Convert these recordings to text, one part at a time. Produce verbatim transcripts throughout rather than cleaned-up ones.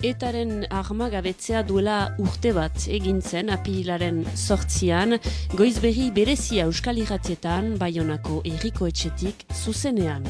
Etaren armagabetzea duela urte bat egin zen apirilaren zortzian, goizberri berezia Euskal Irratietan, Baionako Herriko Etxetik zuzenean.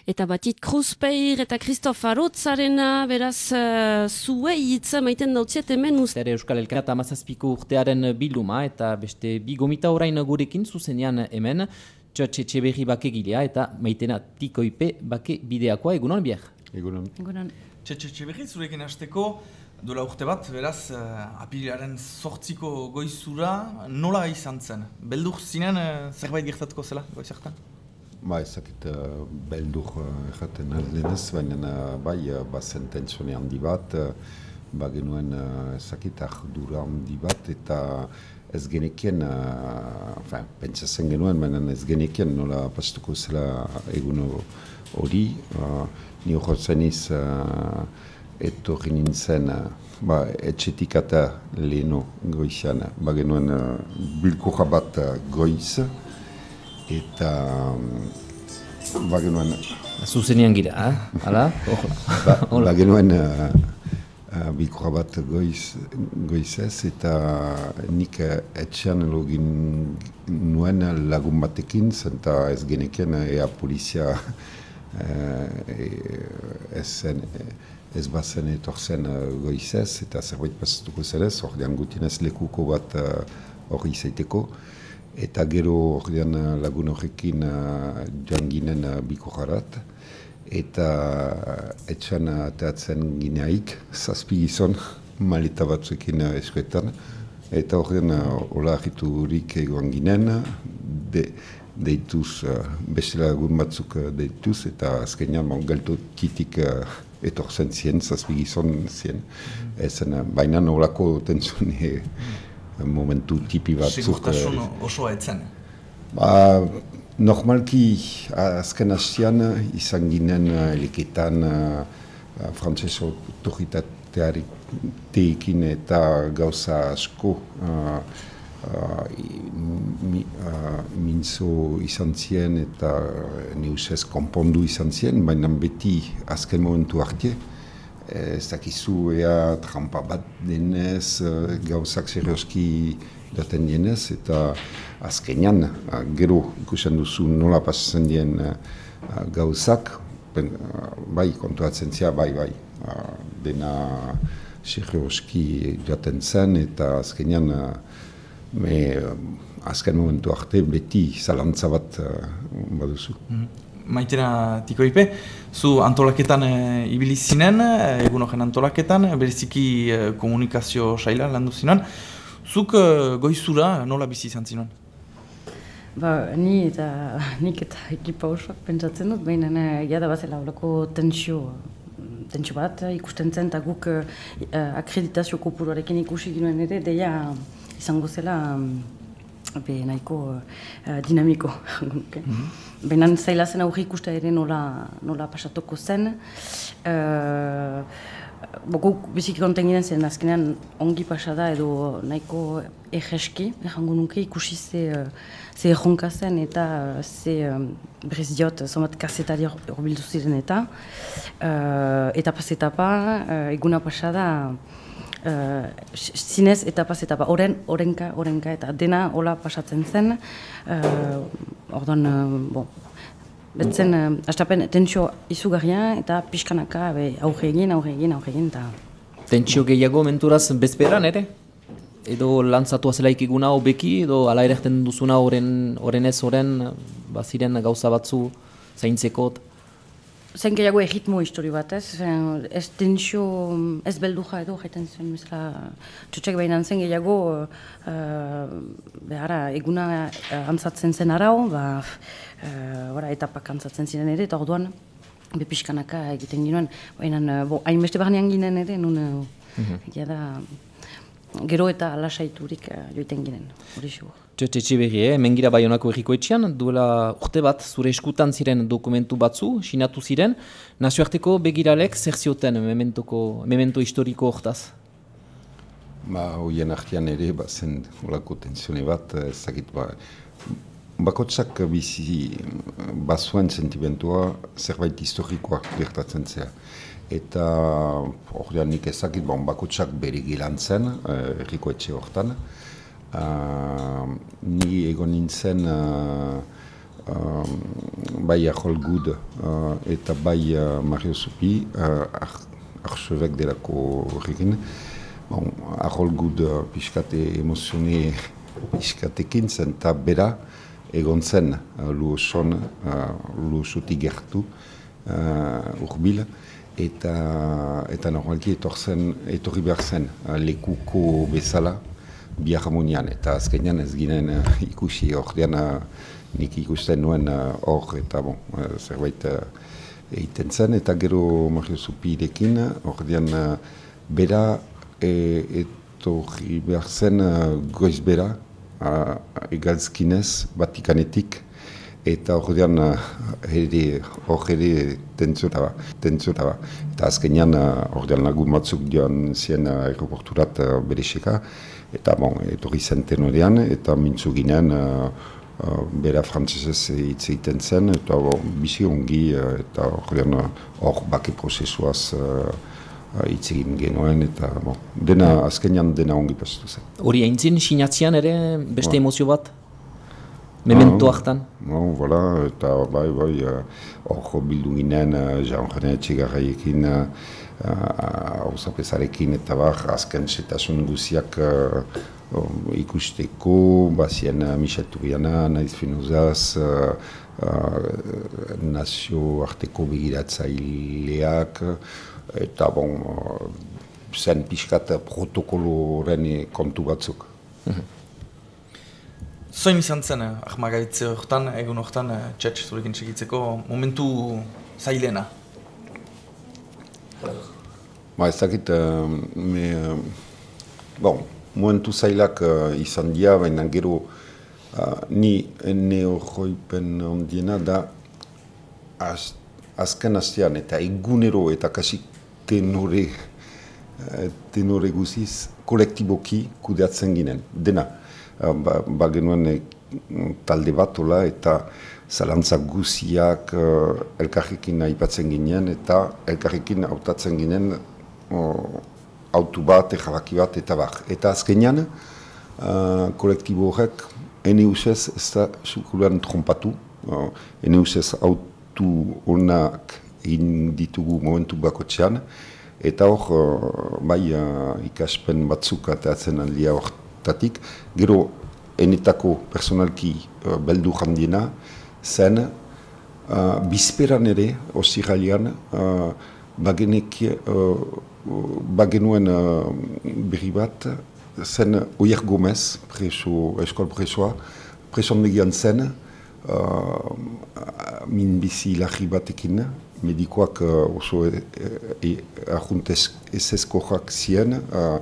Eta Batit Kruzpeir eta Christoph Arotzarena, beraz, uh, zuei hitza maiten dautziet hemen uste. Ere Euskal Elkarta amazazpiko urtearen bilduma eta beste bi gomita orain gurekin zuzenean hemen, Txotxe Etxeberri bakegilea eta Maitena Tikoipe bake bideakoa. Egunon, bier? Egunon. Egunon. Txotxe Etxeberri, zurekin hasteko, dola urte bat, beraz, uh, apirilaren zortziko goizura nola izan zen? Beldur zinen uh, zerbait gertatuko zela goizartan? Ba, ezakit uh, beldur erraten uh, aldenez, baina uh, bai, uh, bazen tensione handi bat, uh, ba genuen uh, ezakit ardura handi bat, eta ez genekien, uh, enfin, pentsatzen genuen, baina ez genekien nola pastuko zela egun hori. Uh, ni horretzen iz, uh, etorri nintzen, uh, ba, etxetik eta leheno goizan, ba genuen uh, bilkurra bat uh, goiz, eta ba genuen... Zuzenean gira, eh? Hala? ba, ba genuen uh, uh, bilkurra bat goiz, goizez, eta nik uh, etxean login nuen lagun batekin, zenta ez geneken ea polizia uh, ez zen, ez bazen etorzen uh, goizez, eta zerbait pasatuko zerez, ordean gutienez lekuko bat hori uh, izaiteko. Eta gero ordean lagun horrekin uh, joan ginen uh, bikorrarat, eta etxan ateatzen gineaik, zazpi gizon, maleta batzuekin uh, eskuetan, eta ordean uh, hola argiturik egoan ginen, de, deituz, uh, beste lagun batzuk uh, deituz, eta azkenean bon, galto titik uh, etorzen zien, zazpi gizon zien, ezen, uh, baina nolako tentsune, momentu tipi batzuk. Segurtasun osoa etzen? Ba, normalki azken hastian izan ginen eleketan uh, frantses autoritatearekin eta gauza asko uh, uh, mi, uh, mintzo izan zien eta neusez konpondu izan zien, baina beti azken momentu arte. Ez dakizu ea trampa bat denez, gauzak serioski daten dienez, eta azkenean, gero ikusten duzu nola pasatzen dien gauzak, bai, kontuatzen zia, bai, bai, dena serioski daten zen, eta azkenean, me, azken momentu arte beti zalantza bat baduzu. Mm-hmm. Maitena Tikoipe, zu antolaketan e, ibili zinen, egun horren antolaketan, bereziki e, komunikazio saila landu zinen. Zuk e, goizura nola bizi izan zinen? Ba, ni eta nik eta ekipa osoak pentsatzen dut, baina jada bazela horreko tensio, tensio bat ikusten zen, eta guk e, akreditazio kopuruarekin ikusi ginoen ere, deia izango zela be, nahiko uh, dinamiko. Mm-hmm. Baina zaila zen aurre ikusta ere nola, nola pasatuko zen. Uh, Guk biziki konten ginen zen azkenean ongi pasada edo nahiko egeski, errango nuke ikusi ze, ze erronka zen eta ze um, berriz diot zomat kazetari horbildu ziren eta uh, etapaz etapa, uh, eguna pasada Uh, zinez etapaz etapa, oren, orenka, orenka, eta dena hola pasatzen zen. Uh, Orduan, uh, bon, betzen, uh, astapen tentsio izugarria eta pixkanaka aurre egin, aurre egin, aurre egin, eta... Tentsio gehiago menturaz bezperan ere? Edo lantzatu azelaik eguna hobeki, edo ala erekten duzuna oren, orenez oren, baziren gauza batzu zaintzeko? Zen gehiago erritmo histori bat, ez? Ez tentsio, ez belduja edo, jaiten zen, mesela, txotxek behinan zen gehiago, uh, behara, eguna uh, antzatzen zen arau, ba, uh, etapak antzatzen ziren ere, eta orduan, bepiskanaka egiten ginoen, behinan, uh, hainbeste barnean ginen ere, nun, uh, mm-hmm. da, gero eta alasaiturik uh, joiten ginen, hori xo. Txotxe Etxeberri, eh? Mengira Baionako Herriko Etxean, duela urte bat zure eskutan ziren dokumentu batzu, sinatu ziren, nazioarteko begiralek zer zioten mementoko, memento historiko hortaz? Ba, hoien artean ere, ba, zen olako tensione bat, ezagit, ba, bakotsak bizi bazuen sentimentua zerbait historikoa gertatzen zea. Eta ordean nik ezakit, bon, bakotsak bere gilan zen, erriko etxe hortan. Uh, ni egon nintzen uh, uh, bai Arjol Gud uh, eta bai uh, Mario Zupi, uh, arxebek delako horrekin. Bon, Arjol Gud uh, pixkate emozione pixkatekin zen, eta bera egon zen uh, lu oson, uh, lu osotik gertu, uh, urbil, eta, eta normalki etorri behar zen uh, lekuko bezala, bi harmonian, eta azkenean ez ginen uh, ikusi ordean uh, nik ikusten nuen hor uh, eta bon, uh, zerbait uh, egiten zen, eta gero Mario Zupirekin ordean uh, bera e, etorri behar zen uh, goiz bera uh, egalzkinez Batikanetik, eta ordean uh, hor ere tentzora ba, tentzora ba. Eta azkenean uh, ordean lagun batzuk joan zien uh, aeroporturat uh, berexeka, eta bon, etorri zen tenorean, eta mintzu ginen, uh, uh, bera frantzesez hitz egiten zen, eta bon, bizi ongi, uh, eta ordean hor bake prozesuaz hitz uh, egin genuen, eta bon, dena, azkenean dena ongi pastu zen. Hori aintzin, sinatzean ere beste emozio bat? Memento hartan? No, voilà, eta bai, bai, hor uh, bildu ginen, uh, Jean-René Etxegarraiekin, uh, hauzapezarekin, eta bar, azken setasun guziak uh, um, ikusteko, bazien uh, Michel Turiana, Naiz Finozaz, uh, uh, nazio arteko begiratzaileak, eta bon, uh, zen pixkat protokoloren kontu batzuk. Mm-hmm. Zoin izan zen, ahmagaitze horretan, egun horretan, txetx zurekin segitzeko momentu zailena? Ba, ez dakit, uh, me, uh, bon, momentu zailak uh, izan dira, baina gero uh, ni ene horroipen ondiena da az, azken astean eta egunero eta kasi tenore, uh, tenore guziz kolektiboki kudeatzen ginen, dena. Uh, ba, ba genuen e, talde bat ola eta zalantza guziak uh, elkarrekin aipatzen ginen eta elkarrekin hautatzen ginen uh, autu bat, erabaki bat eta bar. Eta azkenean uh, kolektibo horrek ene usez ez da sukulan trompatu, uh, ene usez autu honak egin ditugu momentu bakotxean, eta hor uh, bai uh, ikaspen batzuk atatzen aldia hortatik, gero enetako personalki uh, beldu handiena zen uh, bizperan ere, osirralian, uh, bagenek, uh, bagenuen uh, berri bat, zen Oier Gomez, preso, eskol presoa, presondegian zen, uh, minbizi larri batekin, medikoak uh, oso e, e, ajuntez ezeskoak zien, uh,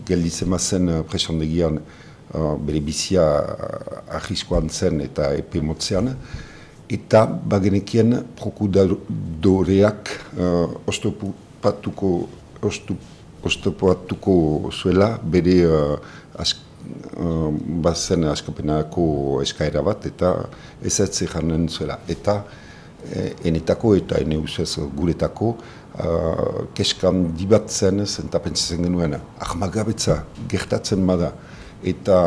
gelditzen zen uh, presondegian uh, bere bizia uh, arriskoan zen eta epe motzean, eta bagenekien prokuradoreak uh, ostopatuko, ostopatuko zuela bere uh, ask, uh, bazen askapenako eskaera bat, eta ez ez janen zuela. Eta enetako eta ene usez guretako uh, keskan dibatzen zenta pentsatzen genuen ahmagabetza gertatzen bada eta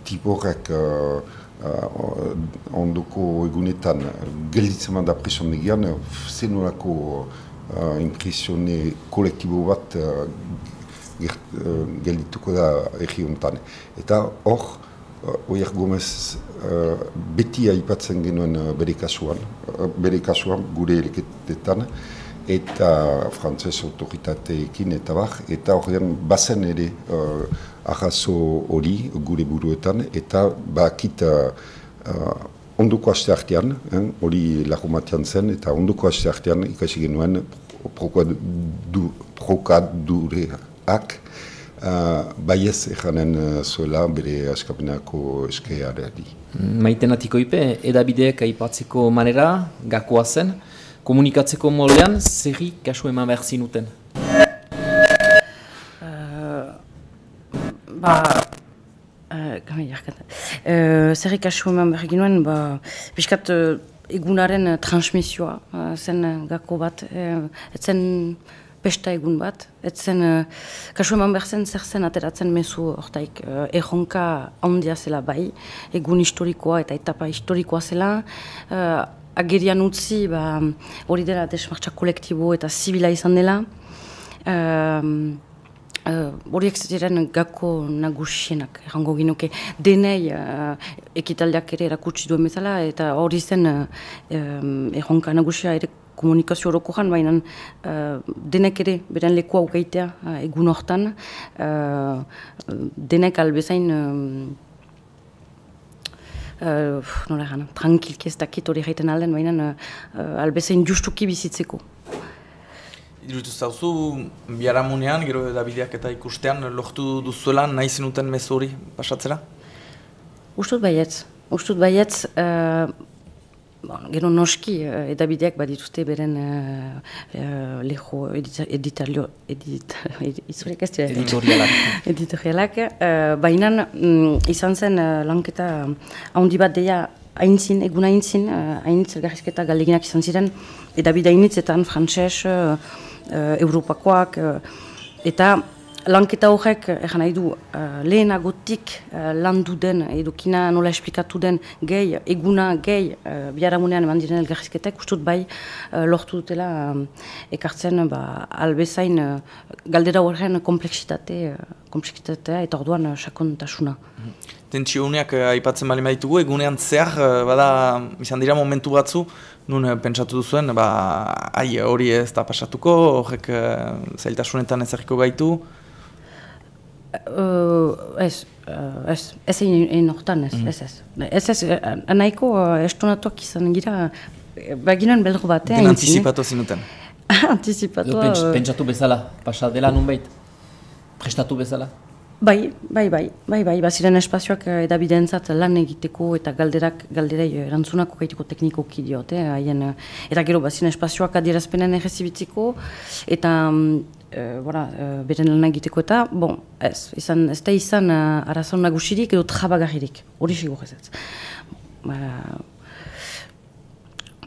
tiporek uh, uh, ondoko egunetan gelditzen bada presondegian zenolako uh, impresione kolektibo bat uh, gert, uh, geldituko da erri hontan. Eta hor Uh, Oier Gomez uh, beti aipatzen genuen uh, bere kasuan, uh, bere kasuan gure eleketetan, eta frantzes autoritateekin eta bar, eta horrean bazen ere uh, ahazo hori gure buruetan, eta bakit uh, uh, ondoko aste artean, hori eh, lagumatean zen, eta ondoko aste artean ikasi genuen prokadureak, Uh, baiez ejanen uh, zuela bere askapenako eskeareari. Maiten atikoipe, edabideek aipatzeko manera, gakoa zen, komunikatzeko moldean, zerri kasu eman behar zinuten? Uh, ba, uh, Uh, zer ikasu eman behar ginuen, ba, piskat uh, egunaren transmisioa uh, zen gako bat, uh, etzen pesta egun bat, etzen uh, kasu eman behar zen zer zen ateratzen mezu hortaik uh, erronka handia zela bai, egun historikoa eta etapa historikoa zela, uh, agerian utzi ba, hori dela desmartza kolektibo eta zibila izan dela, uh, horiek uh, ziren gako nagusienak, errango ginuke, denei uh, ekitaldiak ere erakutsi duen bezala, eta hori zen uh, um, erronka nagusia ere komunikazio horoko jan, baina uh, denek ere beren leku aukaitea uh, egun hortan, uh, denek albezain um, uh, nola gana, tranquilki ez dakit hori gaiten alden, baina uh, albezain justuki bizitzeko. Iruditu zauzu, biharamunean, gero Davideak eta ikustean, lortu duzuela nahi zenuten mezu hori pasatzera? Ustut baietz. Ustut baietz, uh, bon, gero noski, uh, Davideak badituzte beren uh, uh, leho editorialak, edit, edit, editorialak. editorialak uh, baina um, izan zen uh, lanketa handi bat deia haintzin, egun haintzin, uh, haintz elgarrizketa galdeginak izan ziren, Edabide hainitzetan, frantses, uh, Uh, Europakoak, uh, eta lanketa horrek, egan nahi du, uh, lehenagotik uh, landu den, edukina nola esplikatu den gehi, eguna gehi, uh, biharamunean eman diren elgarrizketek, ustut bai uh, lortu dutela uh, ekartzen ba, albezain uh, galdera horren kompleksitate, uh, kompleksitatea eta orduan uh, sakontasuna. Mm-hmm. Tentsio uneak uh, aipatzen bali maitugu, egunean zehar, uh, bada, izan dira momentu batzu, nun uh, pentsatu duzuen, ba, ai, hori ez da pasatuko, horrek uh, zailtasunetan ezagiko gaitu? Uh, ez, uh, ez, ez egin hortan ez, mm. ez, ez. Ez, ez, uh, nahiko uh, estonatuak izan gira, baginen beldro batean. Den antizipatu zinuten? Antizipatu. Uh, pentsatu bezala, pasa dela nun behit? Prestatu bezala? Bai, bai, bai, bai, bai, baziren espazioak Davidentzat lan egiteko eta galderak, galderei erantzunako gaiteko teknikoki diote, haien, eta gero baziren espazioak adierazpenen errezibitzeko, eta e, bora, e, beren lan egiteko eta, bon, ez, izan, ez da izan uh, arazon nagusirik edo trabagarririk, hori sigur ez ez. Ba,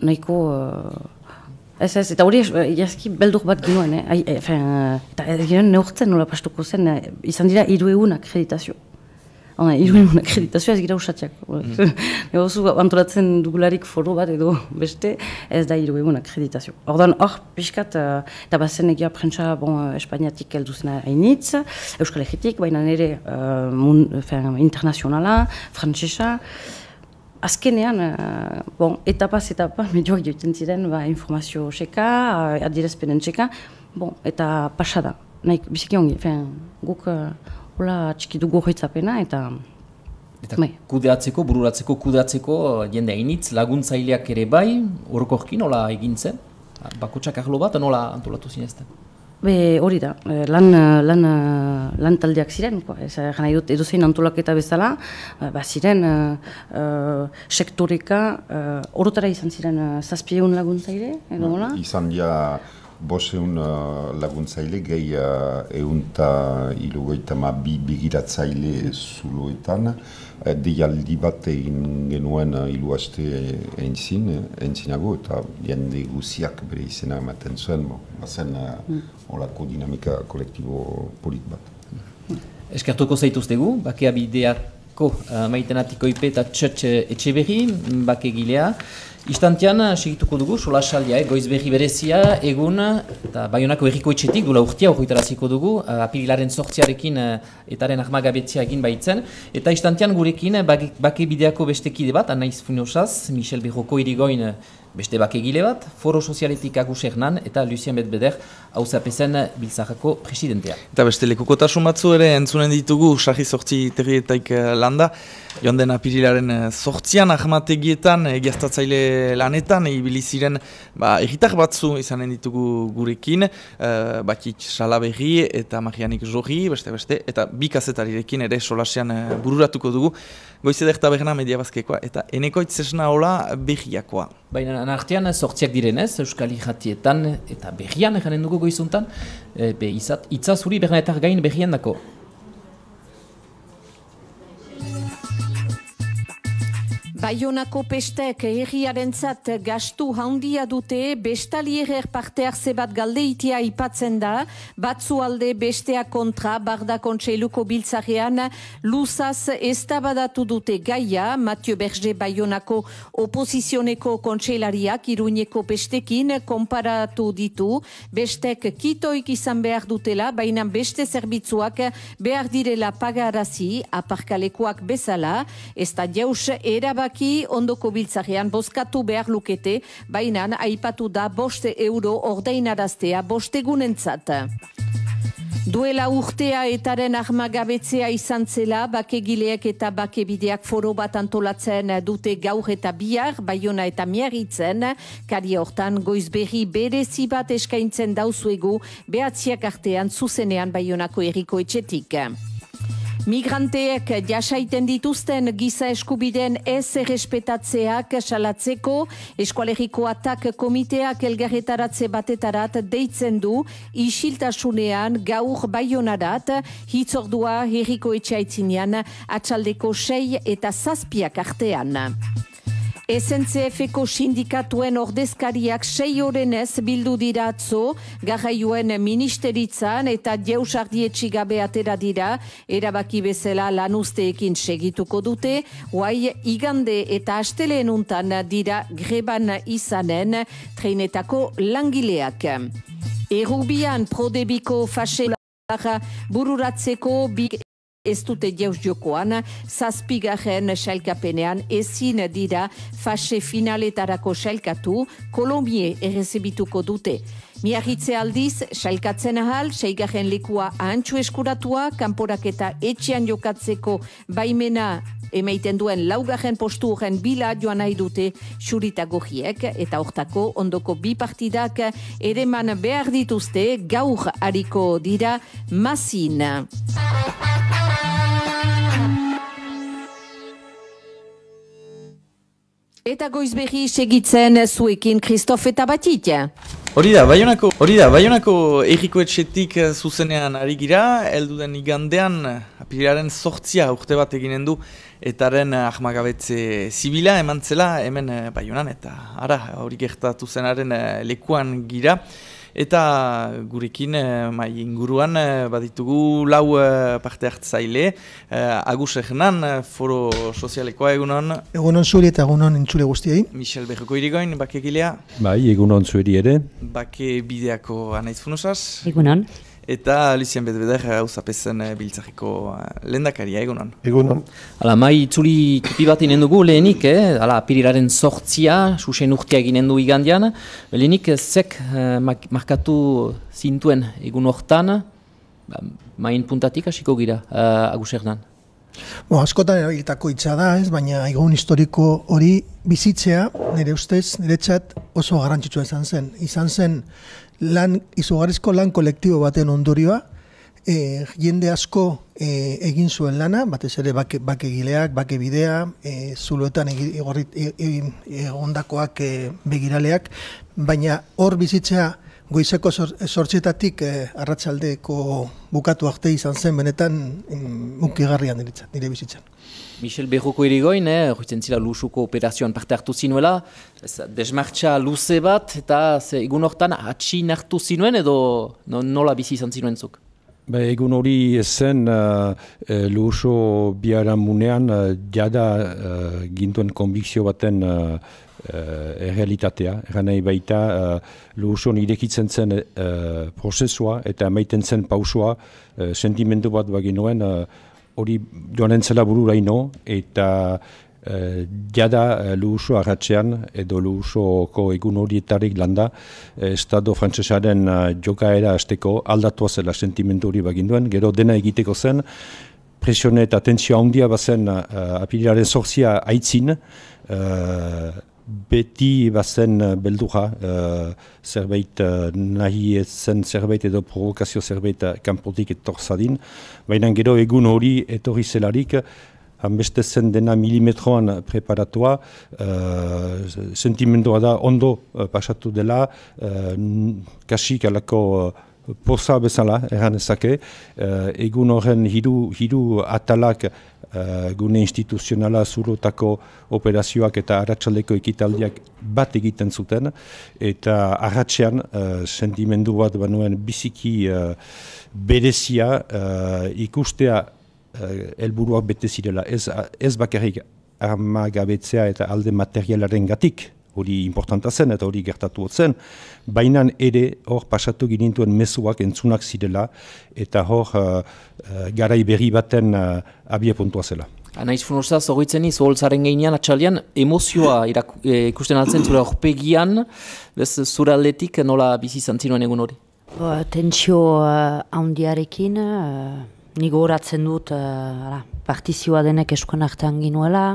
nahiko... Uh, Ez ez, eta hori jazki beldur bat ginoen, eh? e, fe, eta ez ginen neurtzen nola pastuko zen, eh, izan dira hiru egun akreditazio. Hona, hiru egun akreditazioa ez gira usatxak. Mm. Egozu antolatzen dugularik foro bat edo beste, ez da hiru egun akreditazio. Ordan hor, pixkat, uh, eta bazen egia prentsa bon, Espainiatik heldu zena hainitz, Euskal Herritik, baina nire uh, mun, fe, internazionala, frantsesa. Azkenean, uh, bon, etapaz etapa, medioak joiten ziren, ba, informazio txeka, uh, adierazpenen txeka, bon, eta pasada. Naik, biziki ongi, fen, guk uh, hola txiki dugu horretzapena, eta... Eta bai. Kudeatzeko, bururatzeko, kudeatzeko, jende hainitz, laguntzaileak ere bai, orokorkin nola egin zen? Bakotxak arlo bat, nola antolatu zinezten? Be, hori da, lan, lan, lan taldeak ziren, ez gana dut edozein antolaketa bezala, ba ziren uh, uh, sektoreka, uh, orotara izan ziren uh, zazpieun laguntzaile, edo nola? Izan dira boseun uh, laguntzaile, gehi uh, eunta ilogoita ma bi bigiratzaile zuloetan, uh, deialdi bat egin genuen uh, ilu haste eintzin, eintzinago, eta jende guziak bere izena ematen zuen, bo, bazen uh, mm. olako dinamika kolektibo polit bat. Eskertuko zaituztegu, bakea bideako uh, maitenatiko ipe eta txotx etxe berri, bake gilea. Istantean, segituko dugu, solasaldia, eh, goiz berri berezia, egun, eta Baionako herriko etxetik, dula urtia horretaraziko dugu, uh, apililaren sortziarekin uh, etaren ahmagabetzia egin baitzen, eta istantean gurekin bake, bake bideako beste kide bat, Anaiz Funosaz, Michel Berroko irigoin beste bake gile bat, Foro Sozialetik Agus Hernan, eta Lucien Betbeder, hauzapezen Biltzarrako presidentea. Eta beste lekukotasun batzu ere entzunen ditugu, sarri sortzi terrietaik landa, joan den apirilaren sortzian, ahmategietan, egiaztatzaile lanetan, ibili ziren ba, erritar batzu izanen ditugu gurekin, uh, Bakit Salaberri eta Marianik Jorri, beste beste, eta bi kazetarirekin ere solasean uh, bururatuko dugu, Goizeder Taberna Mediabazkekoa eta Enekoitz Esna Ola berriakoa. Baina artean sortziak direnez, Euskal Irratietan eta berrian eganen dugu goizuntan, e, be izat, itzazuri Bernaetar gain berrian dako. Baionako pestek herriarentzat gastu handia dute, bestalierer parte hartze bat galdeitia ipatzen da, batzu alde bestea kontra, Barda Kontseiluko biltzarean luzaz eztabadatu dute gaia, Mathieu Berger Baionako oposizioneko kontseilariak Iruñeko pestekin konparatu ditu, bestek kitoik izan behar dutela, baina beste zerbitzuak behar direla pagarazi, aparkalekuak bezala, ez da jaus erabaki ondoko biltzarean bozkatu behar lukete, baina aipatu da bost euro ordainaraztea bostegunentzat. Duela urtea etaren armagabetzea izan zela, bakegileak eta bakebideak foro bat antolatzen dute gaur eta bihar, Baiona eta Miarritzen, kari hortan goizberri berezi bat eskaintzen dauzuegu, behatziak artean zuzenean Baionako herriko etxetik. Migranteek jasaiten dituzten giza eskubideen ez errespetatzeak salatzeko, Eskualeriko Atak komiteak elgarretaratze batetarat deitzen du, isiltasunean gaur Baionarat, hitzordua herriko etxaitzinean, atxaldeko sei eta zazpiak artean. S N C F-ko sindikatuen ordezkariak sei orenez bildu dira atzo, garraioen ministeritzan eta jeusardietxi gabe atera dira, erabaki bezala lanuzteekin segituko dute, guai igande eta asteleen untan dira greban izanen treinetako langileak. Errubian prodebiko faxelara bururatzeko big ez dute jauz jokoan, zazpigarren sailkapenean ezin dira fase finaletarako sailkatu, Kolombie errezibituko dute. Miarritze aldiz, sailkatzen ahal, seigarren lekua ahantxu eskuratua, kanporaketa etxean jokatzeko baimena emaiten duen laugarren postu horren bila joan nahi dute xurita gogiek, eta hortako ondoko bi partidak ereman behar dituzte gaur hariko dira Mazin. Eta goizberri segitzen zuekin Christophe eta Batitia. Hori da, Baionako, hori da, Baionako erriko etxetik zuzenean ari gira, heldu den igandean, apirilaren sortzia urte bat eginen du, etaren ahmagabetze zibila eman zela hemen Baionan, eta ara, hori gertatu zenaren lekuan gira. Eta gurekin mai inguruan baditugu lau parte hartzaile, Agus Hernan, foro sozialekoa egunon. Egunon zuri eta egunon entzule guztiei. Michel Berroko irigoin, bakegilea. Bai, egunon zueri ere. Bake bideako Anaiz Funosas. Egunon. Eta Lucien Bedbeder hausapezen biltzareko lehendakaria, egunon. Egunon. Hala, mai itzuli tupi bat inen dugu lehenik, eh? Hala, apirilaren sortzia, susen urtea eginen du igandian. Lehenik, zek eh, markatu zintuen egun hortan, ba, main puntatik hasiko gira, uh, Agus Hernan. Bo, askotan erabilitako hitza da, ez, baina egun historiko hori bizitzea, nire ustez, niretzat oso garrantzitsua izan zen. Izan zen lan, izugarrizko lan kolektibo baten ondorioa, e, jende asko e, egin zuen lana, batez ere bake, bakegileak, bakebidea, e, zuloetan egondakoak e, begiraleak, baina hor bizitzea goizeko sortzietatik eh, arratsaldeko bukatu arte izan zen, benetan unkigarrian nire bizitzan. Michel Berroko irigoin, eh, horretzen zila lusuko operazioan parte hartu zinuela, desmartxa luze bat, eta ze, egun hortan atxin hartu zinuen edo no, nola bizi izan zinuen zuk? Ba, egun hori zen uh, luso biharamunean uh, jada uh, gintuen konbikzio baten uh, Uh, errealitatea, eran nahi baita uh, luson irekitzen zen uh, prozesua eta emaiten zen pausua, uh, sentimendu bat baginoen hori uh, joan entzela bururaino eta uh, jada uh, luso arratxean edo lusoko egun horietarik landa uh, Estado frantsesaren uh, jokaera azteko aldatua zela sentimendu hori baginduen, gero dena egiteko zen, presione eta tentzioa handia bazen uh, apirilaren sortzia aitzin, uh, beti bazen beldura, uh, zerbait uh, nahi zen zerbait edo provokazio zerbait kanpotik etorzadin, baina gero egun hori etorri zelarik, hanbeste zen dena milimetroan preparatua, uh, sentimendua da ondo uh, pasatu dela, uh, kasik alako uh, poza bezala, erran ezake, uh, egun horren hiru, hiru atalak uh, gune instituzionala zurotako operazioak eta arratsaldeko ekitaldiak bat egiten zuten, eta arratsean uh, sentimendu bat banuen biziki uh, berezia uh, ikustea uh, helburuak bete zirela. Ez, ez bakarrik armagabetzea eta alde materialaren gatik, hori importanta zen eta hori gertatu zen, baina ere hor pasatu ginintuen mezuak entzunak zirela eta hor uh, uh, garai berri baten uh, abie puntua zela. Anaiz Funosaz, horretzen iz, holtzaren geinean, atxalian, emozioa irak, e, ikusten altzen zure horpegian, bez zure aldetik nola bizi izan zinuen egun hori? Ba, tensio uh, handiarekin, uh, nigo horatzen dut uh, partizioa denek eskuan artean ginuela,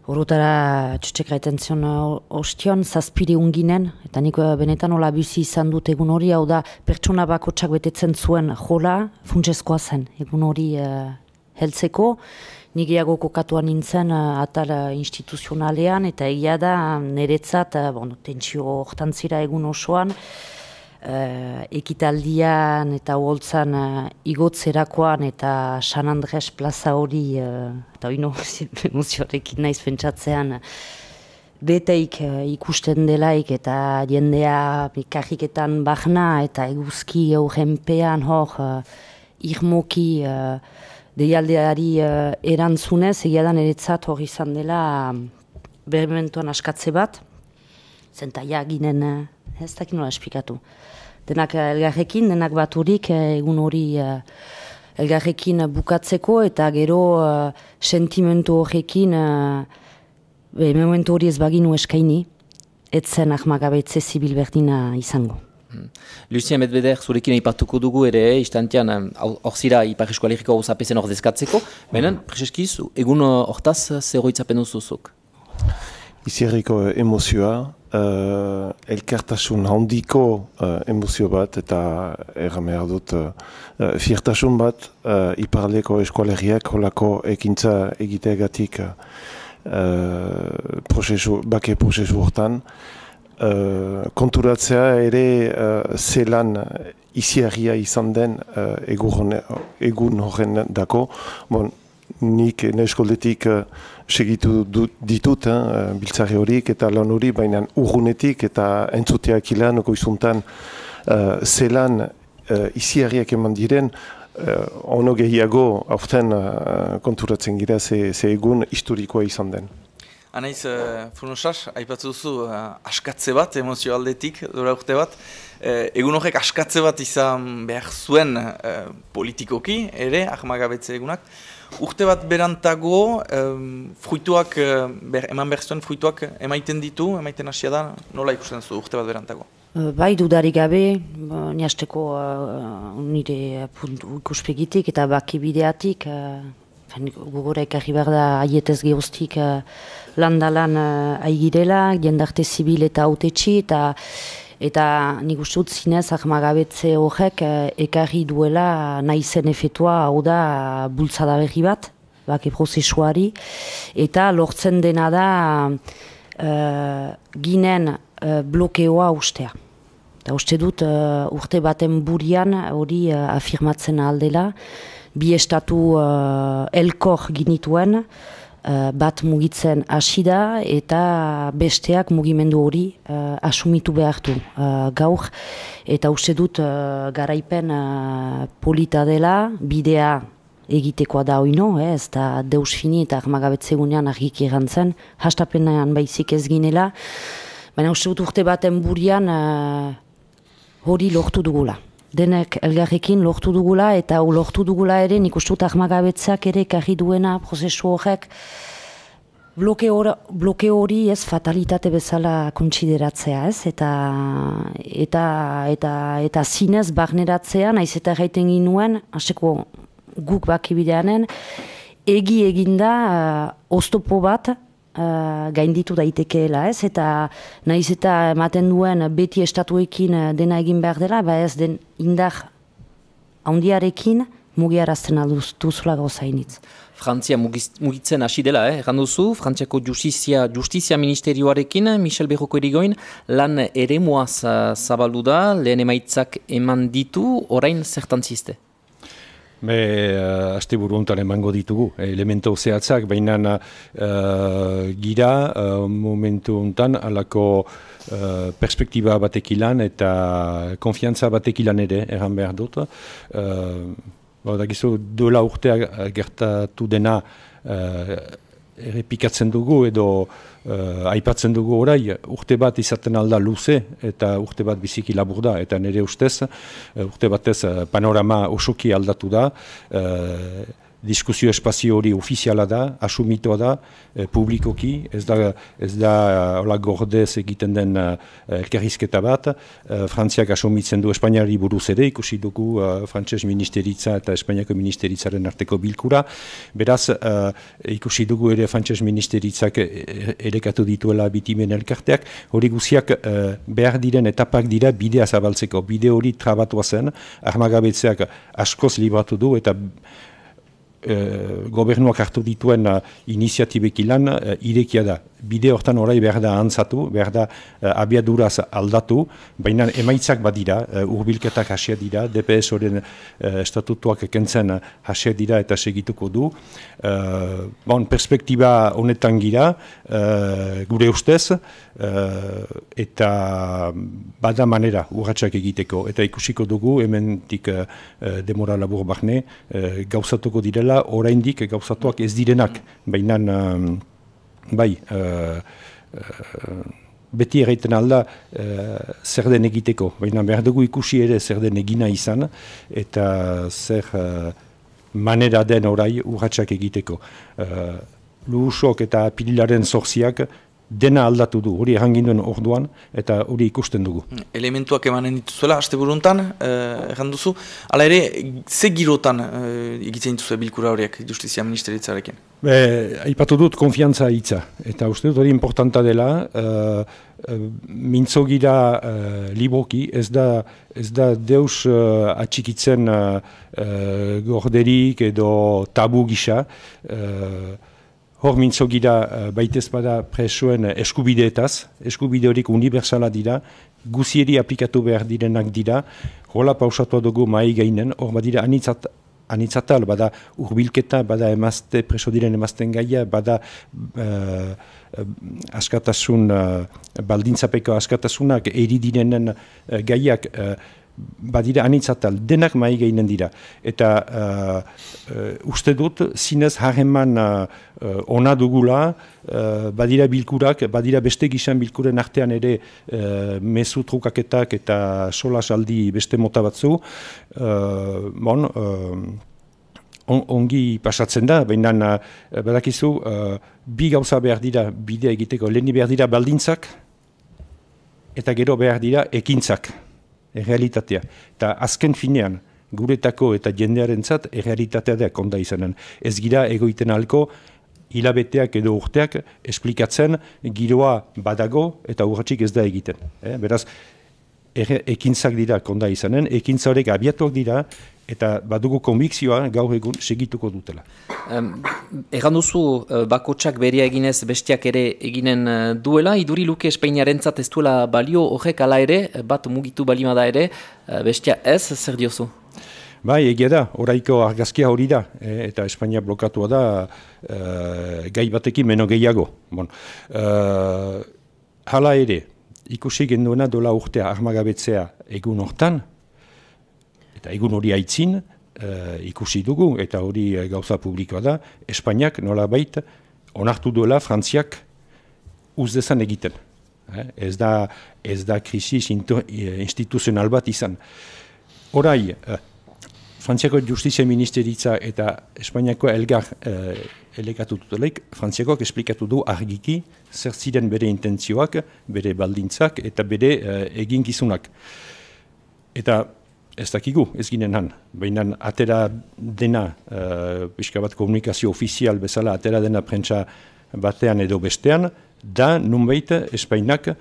horretara txotxek gaiten zion ostion, zazpire unginen, eta nik benetan hola bizi izan dut egun hori, hau da pertsona bakotsak betetzen zuen jola, funtsezkoa zen egun hori uh, heltzeko. Nik eago kokatuan nintzen uh, atal uh, instituzionalean, eta egia da niretzat, uh, bon, tentsio hortan zira egun osoan, uh, ekitaldian eta holtzan uh, igotzerakoan eta San Andres plaza hori, uh, eta hori no, emozioarekin naiz pentsatzean, beteik uh, ikusten delaik eta jendea karriketan bahna eta eguzki aurrenpean hor uh, irmoki uh, deialdeari uh, erantzunez, egia da niretzat hori izan dela uh, berementuan askatze bat, zentaia ginen, uh, ez dakit nola esplikatu. Denak uh, elgarrekin, denak baturik uh, egun hori uh, elgarrekin bukatzeko eta gero uh, sentimentu horrekin uh, be, momentu hori ez baginu eskaini, etzen ahmagabetze zibil berdina izango. Lucien Medveder, zurekin aipatuko dugu ere, istantean, hor zira Ipar Euskal Herriko hauzapezen ordezkatzeko, baina, prezeskiz, egun hortaz zeroitzapen duzuzuk? Izierriko emozioa, uh, elkartasun handiko uh, emozio bat, eta erramehar dut, uh, fiertasun bat, uh, Iparaldeko eskualeriak holako ekintza egiteagatik uh, prozesu, bake prozesu hortan, Uh, konturatzea ere uh, zelan iziarria izan den uh, egun horren dako. Bon, nik neskoldetik uh, segitu ditut uh, biltzari horik eta lan hori, baina urgunetik eta entzuteak ilan goizuntan uh, zelan uh, iziarriak eman diren, uh, ono gehiago aurten uh, konturatzen gira ze, ze egun historikoa izan den. Anaiz, uh, Funosaz, aipatzu duzu uh, askatze bat, emozio aldetik, dura urte bat. Uh, egun horrek askatze bat izan behar zuen uh, politikoki, ere, ahmagabetze egunak. Urte bat berantago, um, fruituak, uh, ber, eman behar zuen fruituak emaiten ditu, emaiten hasia da, nola ikusten zu urte bat berantago? Bai, dudarik gabe, niasteko uh, nire puntu ikuspegitik eta bakibideatik, uh, gogora ekarri behar da aietez gehoztik uh, landalan uh, aigirela, jendarte zibil eta autetxi, eta eta nik uste dut zinez ahmagabetze horrek uh, ekarri duela naizen efetua, hau da bultzada berri bat, bake prozesuari, eta lortzen dena da uh, ginen uh, blokeoa ustea. Eta uste dut uh, urte baten burian hori uh, afirmatzen aldela, bi estatu uh, elkor ginituen, uh, bat mugitzen hasi da eta besteak mugimendu hori uh, asumitu behartu uh, gaur. Eta uste dut uh, garaipen uh, polita dela, bidea egitekoa da oino, eh, ez da deus fini eta ahmagabetzegunean argik erantzen, hastapenean baizik ez ginela, baina uste dut urte baten burian uh, hori lortu dugula. Denek elgarrekin lortu dugula eta lortu dugula ere nik uste dut ahmagabetzak ere ekarri duena prozesu horrek bloke hori ez fatalitate bezala kontsideratzea, ez? Eta, eta, eta, eta zinez barneratzea, naiz eta gaiten ginuen, hasteko guk bakibideanen, egi eginda uh, oztopo bat, Uh, gainditu daitekeela, ez? Eta naiz eta ematen duen beti estatuekin dena egin behar dela, ba ez den indar handiarekin mugiarazten alduzula gauzainitz. Frantzia mugitzen hasi dela, eh? Erran duzu, Frantziako Justizia, Justizia Ministerioarekin, Michel Berroko erigoin, lan eremuaz zabaldu da, lehen emaitzak eman ditu, orain zertan ziste? Be, uh, aste buru honetan emango ditugu, elemento zehatzak, baina uh, gira uh, momentu honetan alako uh, perspektiba batekilan eta konfiantza batekilan ere, erran behar dut. Uh, Dakizu, dola urtea gertatu dena uh, errepikatzen dugu edo uh, aipatzen dugu orai, urte bat izaten alda luze eta urte bat biziki labur da, eta nire ustez, uh, urte batez uh, panorama osoki aldatu da, uh, diskusio espazio hori ofiziala da, asumitoa da, eh, publikoki, ez da, ez da hola gordez egiten den uh, elkarrizketa bat, uh, Frantziak asumitzen du Espainiari buruz ere, ikusi dugu uh, Frantses ministeritza eta Espainiako ministeritzaren arteko bilkura, beraz uh, ikusi dugu ere Frantses ministeritzak erekatu dituela bitimen elkarteak, hori guziak uh, behar diren etapak dira bidea zabaltzeko, bide hori trabatua zen, armagabetzeak askoz libratu du eta Uh, gobernuak hartu dituen uh, iniziatibekilan uh, irekia da. Bide hortan orai behar da antzatu, behar da uh, abiaduraz aldatu, baina emaitzak badira, uh, urbilketak hasia dira, D P S horren uh, estatutuak kentzen uh, hasia dira eta segituko du. Uh, bon, perspektiba honetan gira, uh, gure ustez, uh, eta bada manera urratsak egiteko. Eta ikusiko dugu, hementik uh, demora labur barne, uh, gauzatuko direla, oraindik gauzatuak ez direnak, baina um, bai, uh, uh, beti erraiten alda uh, zer den egiteko, baina behar dugu ikusi ere zer den egina izan, eta zer uh, manera den orai urratsak egiteko. Uh, Luhusok eta Pirilaren zorziak dena aldatu du, hori erranginduen orduan, eta hori ikusten dugu. Elementuak emanen dituzuela, haste buruntan, eh, erran duzu, ala ere, ze girotan eh, egitzen dituzue bilkura horiek, Justizia Ministeritzarekin? Be, aipatu dut konfiantza hitza, eta uste dut hori importanta dela, uh, uh, mintzo gira uh, liboki, ez da, ez da deus uh, atxikitzen uh, uh, gorderik edo tabu gisa, uh, hor mintzo gira uh, baitez bada presoen eskubideetaz, eskubide horik unibertsala dira, guzieri aplikatu behar direnak dira, hola pausatua dugu mai gainen, hor badira anitzat, anitzatal, bada urbilketa, bada emazte, preso diren emazten gaia, bada uh, askatasun, uh, baldintzapeko askatasunak, eri direnen uh, gaiak, uh, badira anitzatal, denak mai gainen dira. Eta uh, uh, uste dut, zinez harreman uh, uh, ona dugula, uh, badira bilkurak, badira beste gizan bilkuren artean ere uh, mezu trukaketak eta solasaldi beste mota batzu. Uh, bon, uh, on, ongi pasatzen da, baina uh, badakizu, uh, bi gauza behar dira bidea egiteko, leheni behar dira baldintzak, eta gero behar dira ekintzak. Errealitatea. Eta azken finean, guretako eta jendearentzat errealitatea da konda izanen. Ez gira egoiten halko, hilabeteak edo urteak esplikatzen giroa badago eta urratxik ez da egiten. Eh? Beraz, er, ekintzak dira konda izanen, ekintza horrek abiatuak dira, eta badugu konbikzioa gaur egun segituko dutela. Um, Egan duzu, uh, bakotsak berea eginez bestiak ere eginen uh, duela, iduri luke Espainiarentzat ez duela balio horrek ala ere, bat mugitu balima da ere, uh, bestia ez, zer diozu? Bai, egia da, oraiko argazkia hori da, e, eta Espainia blokatua da uh, gai batekin meno gehiago. Bon. Uh, hala ere, ikusi genduena dola urtea armagabetzea egun hortan, eta egun hori aitzin, uh, ikusi dugu, eta hori uh, gauza publikoa da, Espainiak nolabait onartu duela Frantziak uzdezan egiten. Eh? Ez da, ez da krisis instituzional bat izan. Horai, uh, Frantziako Justizia Ministeritza eta Espainiako elgar uh, elekatu dutelaik, Frantziakoak esplikatu du argiki zer ziren bere intentzioak, bere baldintzak eta bere uh, eginkizunak. Eta ez dakigu, ez ginen han, baina atera dena, uh, pixka bat komunikazio ofizial bezala, atera dena prentsa batean edo bestean, da nunbait Espainak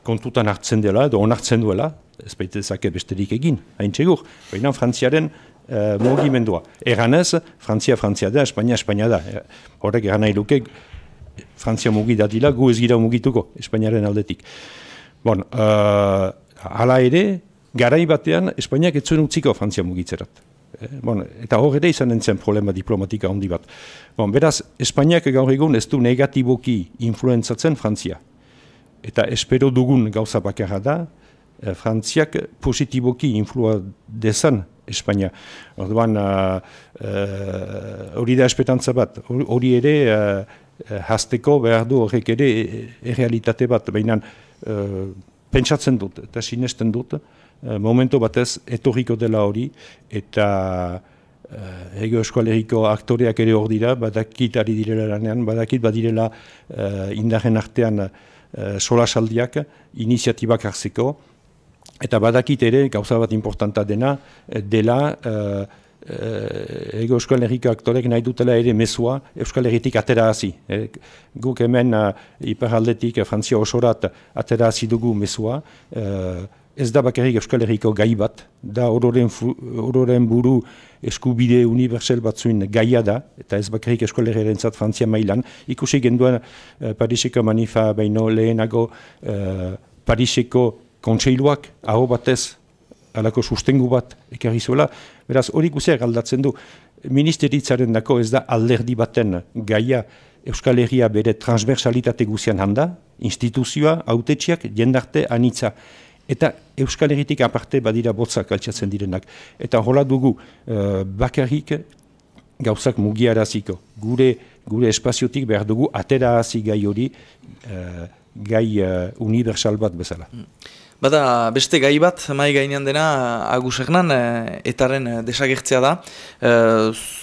kontutan hartzen dela, edo onartzen duela, ez baitezake besterik egin, hain txegur, baina Frantziaren uh, mugimendua. Eganez, Frantzia Frantzia da, Espainia Espainia da. Horrek egan nahi luke, Frantzia mugi dadila, gu ez gira mugituko, Espainiaren aldetik. Bon, uh, hala ere, garai batean, Espainiak ez zuen utziko Frantzia mugitzerat. Bon, eta hor ere izan zen problema diplomatika handi bat. Bon, beraz, Espainiak gaur egun ez du negatiboki influenzatzen Frantzia. Eta espero dugun gauza bakarra da, eh, Frantziak positiboki influa dezan Espainia. Orduan, hori uh, uh, da espetantza bat. Hori ere, uh, hasteko behar du horrek ere errealitate bat. Baina, uh, pentsatzen dut eta sinesten dut, uh, momentu batez etorriko dela hori, eta uh, Ego Euskal Herriko aktoreak ere hor dira, badakit ari direla lanean, badakit badirela uh, indarren artean uh, solasaldiak, iniziatibak hartzeko, eta badakit ere, gauza bat importanta dena, dela uh, uh, Ego Euskal Herriko aktorek nahi dutela ere mezua Euskal Herritik atera hazi. Eh, guk hemen uh, iparaldetik uh, Frantzia osorat atera hazi dugu mezua. Uh, ez da bakarrik Euskal Herriko gai bat, da ororen, ororen buru eskubide universal batzuin gaia da, eta ez bakarrik Euskal Herriarentzat Frantzia mailan. Ikusi genduen uh, Pariseko manifa baino lehenago uh, Pariseko kontseiluak aho batez alako sustengu bat ekarri zuela. Beraz, hori guziak aldatzen du. Ministeritzaren dako ez da alderdi baten gaia Euskal Herria bere transversalitate guzian handa, instituzioa, autetxiak, jendarte, anitza. Eta Euskal Herritik aparte badira botzak altxatzen direnak. Eta hola dugu uh, bakarrik gauzak mugiaraziko. Gure, gure espaziotik behar dugu atera hazi gai hori, uh, gai uh, universal bat bezala. Mm. Bada, beste gai bat, mai gainean dena, Agus Hernan, etaren desagertzea da. E,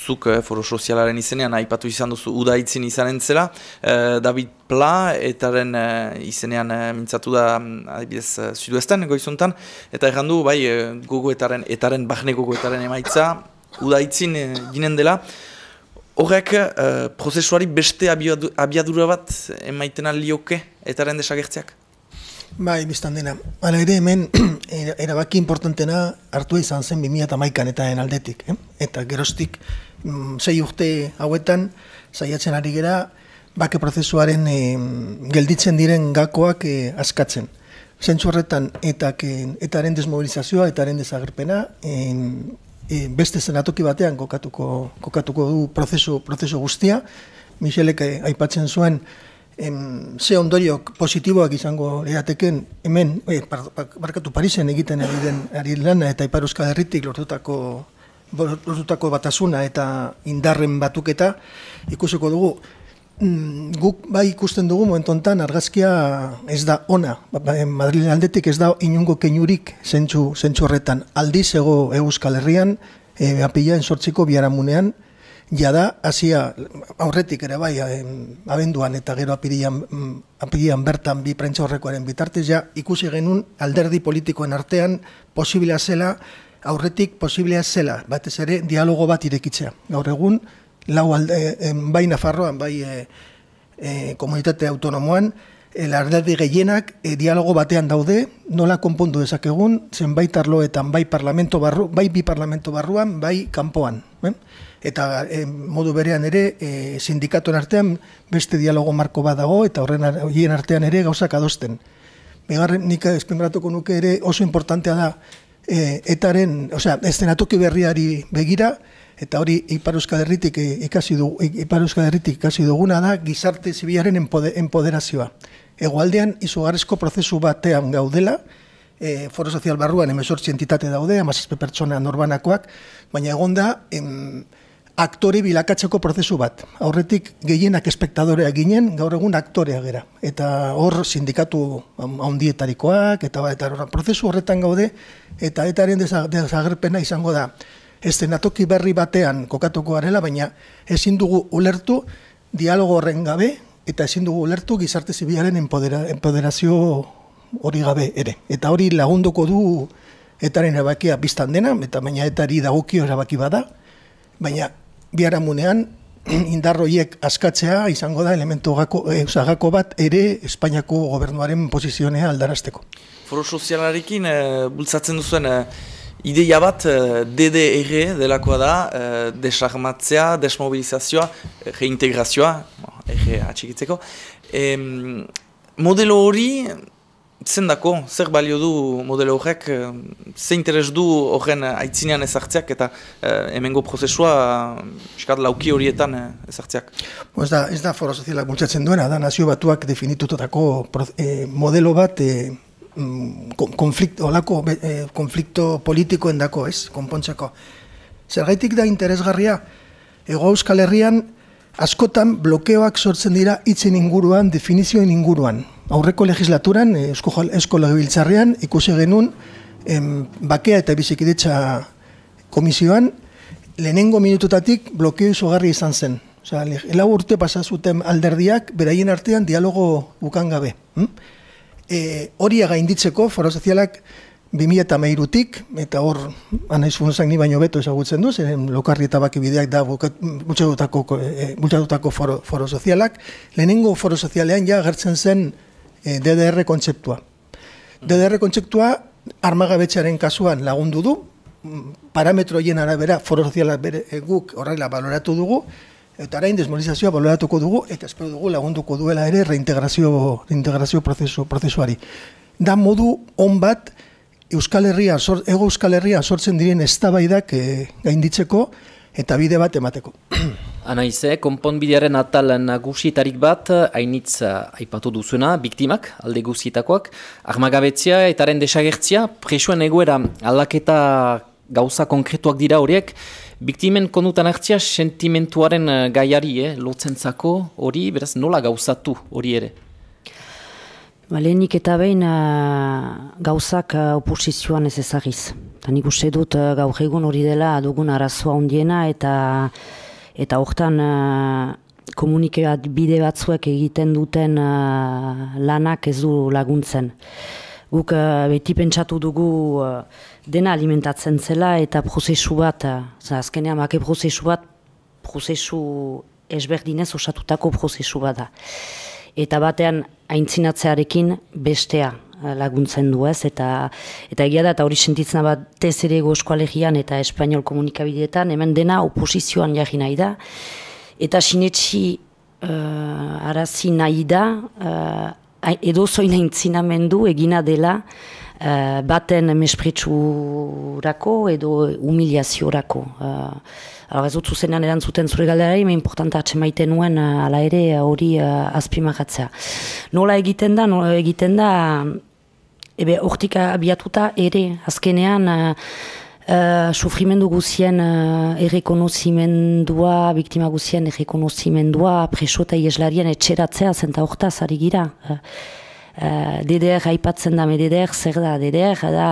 zuk e, foro sozialaren izenean, aipatu izan duzu, udaitzin izanen zela. E, David Pla, etaren e, izenean e, mintzatu da, adibidez, Sudoesten goizuntan. Eta errandu, bai, gogo etaren, etaren, bahne gogo etaren emaitza, udaitzin e, ginen dela. Horrek, e, prozesuari beste abiadura bat emaiten alioke etaren desagertzeak? Bai, biztan dena. Hala ere hemen, erabaki importantena hartua izan zen bi mila hamaikan eta aldetik. Eh? Eta geroztik, mm, sei urte hauetan, saiatzen ari gera, bake prozesuaren eh, gelditzen diren gakoak eh, askatzen. Zentzu horretan, etak, eh, etaren desmobilizazioa, etaren desagerpena, eh, eh, beste zenatoki batean kokatuko, kokatuko du prozesu, prozesu guztia. Michelek eh, aipatzen zuen, Em, ze ondoriok positiboak izango erateken hemen, eh, barkatu Parisen egiten ari den ari lana eta Ipar Euskal Herritik lortutako, lortutako batasuna eta indarren batuketa ikusiko dugu. Mm, guk bai ikusten dugu momentu honetan argazkia ez da ona. Madrilen aldetik ez da inungo keinurik zentzu, zentzu horretan. Aldiz ego Euskal Herrian, e, apilaen sortziko biharamunean, jada, hasia aurretik ere bai, abenduan eta gero apirian, apirian bertan bi prentsa horrekoaren bitartez, ja ikusi genuen alderdi politikoen artean posiblea zela, aurretik posiblea zela, batez ere dialogo bat irekitzea. Gaur egun, lau alde, bai Nafarroan, bai e, e, komunitate autonomoan, alderdi gehienak e, dialogo batean daude, nola konpondu dezakegun, zenbait arloetan, bai parlamento barru, bai bi parlamento barruan, bai kanpoan. Eh? Eta e, modu berean ere e, sindikatuen artean beste dialogo marko bat dago eta horren horien artean ere gauzak adosten. Bigarren nik espenbratuko nuke ere oso importantea da e, etaren, osea, eszenatoki berriari begira eta hori Ipar Euskal Herritik ikasi du, Ipar Euskal Herritik ikasi duguna da gizarte zibilaren enpoderazioa. Hegoaldean izugarrizko prozesu batean gaudela, e, foro sozial barruan hemezortzi entitate daude, hamazazpi pertsona norbanakoak, baina egon da em, aktore bilakatzeko prozesu bat. Aurretik gehienak espektadoreak ginen, gaur egun aktorea gera. Eta hor sindikatu handietarikoak, eta, eta prozesu horretan gaude, eta etaren desagerpena izango da. Eszenatoki berri batean kokatuko garela, baina ezin dugu ulertu dialogo horren gabe, eta ezin dugu ulertu gizarte zibilaren empodera, empoderazio hori gabe ere. Eta hori lagunduko du etaren erabakia biztan dena, eta baina etari dagokio erabaki bada, baina biharamunean indarroiek askatzea izango da elementu gako, e, gako bat ere Espainiako gobernuaren posizionea aldarazteko. Foro sozialarekin e, bultzatzen duzuen e, ideia bat e, D D R delakoa da, e, desarmatzea, desmobilizazioa, reintegrazioa, R atxikitzeko. E, modelo hori zendako, zer balio du modelo horrek, ze interes du horren aitzinean ezartzeak eta eh, hemengo prozesua eskat lauki horietan ezartzeak? Ez da, ez da foro sozialak bultzatzen duena, da nazio batuak definitutako eh, modelo bat eh, konflikto, olako, eh, konflikto politikoen dako, ez, konpontzeko. Zergaitik da interesgarria, Hego Euskal Herrian askotan blokeoak sortzen dira hitzen inguruan, definizioen inguruan. Aurreko legislaturan, Eusko, Eusko Legebiltzarrean, ikusi genuen em, bakea eta bizikidetza komisioan, lehenengo minututatik blokeo izugarri izan zen. Osa, lau urte pasa zuten alderdiak, beraien artean dialogo bukan gabe. Hm? E, hori gainditzeko, foro sozialak bi mila hamairutik, eta hor, anaiz funzak ni baino beto ezagutzen du, zeren lokarri eta baki bideak da bultzatutako foro, foro sozialak, lehenengo foro sozialean ja agertzen zen e, D D R kontzeptua. D D R kontzeptua armagabetxearen kasuan lagundu du, parametroien arabera foro sozialak bere, e, guk horrela baloratu dugu, eta arain desmobilizazioa baloratuko dugu, eta espero dugu lagunduko duela ere reintegrazio, reintegrazio prozesu, prozesuari. Da modu on bat, Euskal Herria, Ego Euskal Herria sortzen diren eztabaidak e, gainditzeko eta bide bat emateko. Anaize, konponbidearen atal nagusietarik bat, hainitz aipatu duzuena, biktimak, alde guzietakoak, armagabetzia eta haren desagertzia, presuen egoera aldaketa gauza konkretuak dira horiek, biktimen kondutan hartzia sentimentuaren gaiari, eh, lotzentzako hori, beraz nola gauzatu hori ere? Lehenik eta behin uh, gauzak uh, oposizioan ez ezagiz. Ta nik uste dut uh, gaur egun hori dela dugun arazoa handiena eta eta hortan uh, komunikeat bide batzuek egiten duten uh, lanak ez du laguntzen. Guk uh, beti pentsatu dugu uh, dena alimentatzen zela eta prozesu bat, uh, azkenean bake prozesu bat, prozesu ezberdinez osatutako prozesu bat da. Eta batean aintzinatzearekin bestea laguntzen du ez, eta, eta egia da, eta hori sentitzen bat tez ere Hego Euskal Herrian eta Espainol komunikabideetan, hemen dena oposizioan jarri nahi da, eta sinetxi uh, arazi nahi da, uh, edo zoin aintzinamendu egina dela uh, baten mespretsurako edo humiliaziorako. Uh, Hala ez dut zuzenean erantzuten zure galderari, me importanta atxemaiten nuen ala ere hori uh, azpimagatzea. Nola egiten da, nola egiten da, ebe hortik abiatuta ere azkenean uh, uh, sufrimendu guzien uh, errekonozimendua, biktima guzien errekonozimendua, preso eta ieslarien etxeratzea zenta hortaz ari gira. Uh, uh, D D R aipatzen da, D D R zer da, D D R da...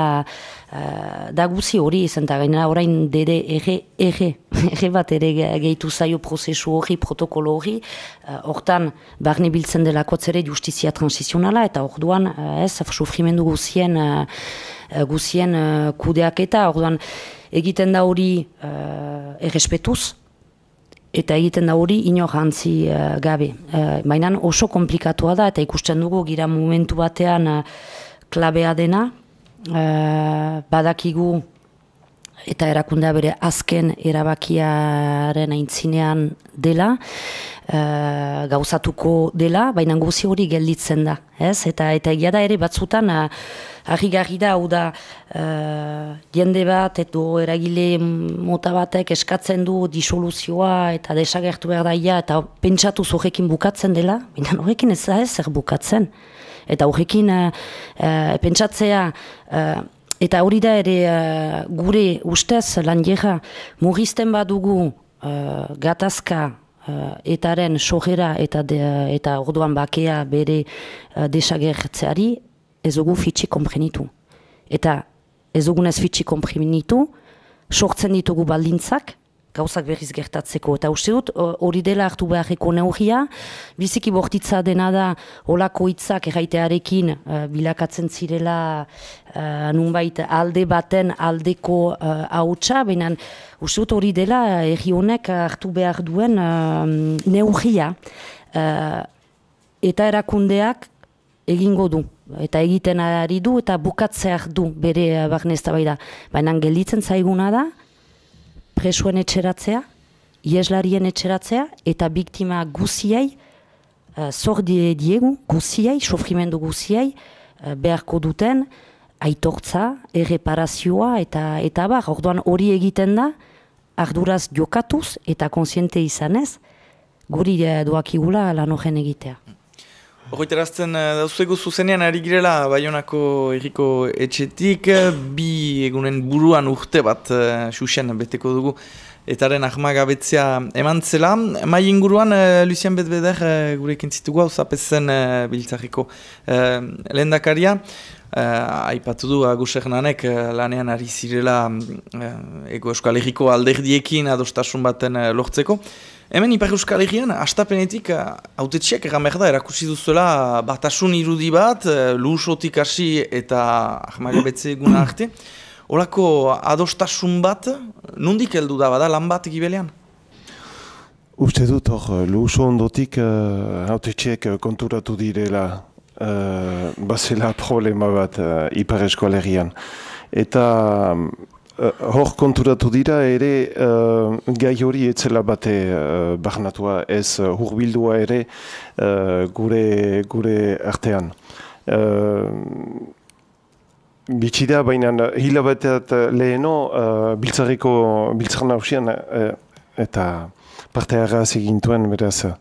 Uh, da guzi hori izan eta gainera orain dere ege, ege, ege bat ere gehitu zaio prozesu hori, protokolo hori, uh, hortan barne biltzen delako ere justizia transizionala eta orduan uh, ez, sufrimendu guzien, uh, guzien uh, kudeak eta orduan egiten da hori uh, errespetuz eta egiten da hori inor hantzi uh, gabe. Uh, Baina oso komplikatua da eta ikusten dugu gira momentu batean uh, klabea dena, Uh, badakigu eta erakundea bere azken erabakiaren aintzinean dela, uh, gauzatuko dela, baina guzi hori gelditzen da, ez? Eta, eta egia da ere batzutan uh, harrigarri da, hau da uh, jende bat edo eragile mota batek eskatzen du disoluzioa eta desagertu behar daia eta pentsatu horrekin bukatzen dela, baina horrekin ez da ez zer bukatzen. Eta horrekin uh, uh, pentsatzea, uh, eta hori da ere uh, gure ustez lan jera murrizten badugu uh, gatazka uh, etaren sojera eta, de, eta orduan bakea bere uh, desagertzeari ez dugu fitxi konprenitu. Eta ez dugunez fitxi konprenitu, sortzen ditugu baldintzak, gauzak berriz gertatzeko. Eta uste dut, hori dela hartu beharreko neurria, biziki bortitza dena da olako hitzak erraitearekin uh, bilakatzen zirela uh, nunbait alde baten aldeko uh, hautsa, baina uste dut hori dela herri honek hartu behar duen uh, neurria uh, eta erakundeak egingo du. Eta egiten ari du eta bukatzeak du bere barne eztabaida. Baina gelditzen zaiguna da, presuen etxeratzea, ieslarien etxeratzea, eta biktima guziei, uh, zor diegu, guziei, sofrimendu guziei, beharko duten, aitortza, erreparazioa eta eta bar, orduan hori egiten da, arduraz jokatuz eta konsiente izanez, guri doakigula lan horren egitea. Horretarazten dauzego zuzenean ari girela Baionako herriko etxetik, bi egunen buruan urte bat xuxen beteko dugu etaren ahmagabetzea eman zela. Mai inguruan, Lucien Betbeder gurekin zitugu hau zapezen biltzarriko lehendakaria. Aipatu du Agus Hernanek lanean ari zirela Ego Euskal Herriko alderdiekin adostasun baten lortzeko. Hemen Ipar Euskal Herrian, astapenetik hautetxeak egan behar da, erakusi duzuela batasun irudi bat, lusotik hasi eta ahmagabetze eguna arte. Olako adostasun bat, nondik heldu da bada, lan bat egibelean? Uste dut hor, luso ondotik hautetxeak konturatu direla uh, bazela problema bat uh, Ipar Euskal Herrian. Eta Uh, hor konturatu dira ere uh, gai hori etzela bate uh, barnatua, ez uh, hurbildua ere uh, gure, gure artean. Uh, Bitxida, baina hilabateat leheno uh, biltzarriko biltzar nausian uh, eta parte harraz egintuen beraz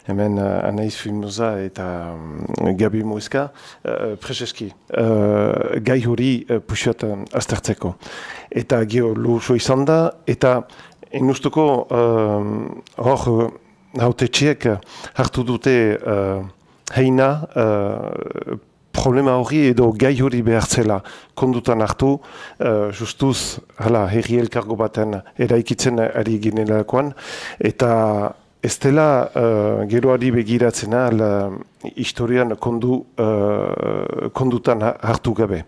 hemen uh, Anaiz Filmoza eta um, Gabi Moizka uh, prezeski uh, gai hori uh, puxat uh, aztertzeko. Eta gero luso izan da, eta enustuko uh, hor hautetxeek hartu dute uh, heina uh, problema hori edo gai hori behartzela kondutan hartu, uh, justuz hala herri elkargo baten eraikitzen ari ginelakoan, eta ez dela uh, geroari begiratzena la, historian kondu, uh, kondutan hartu gabe.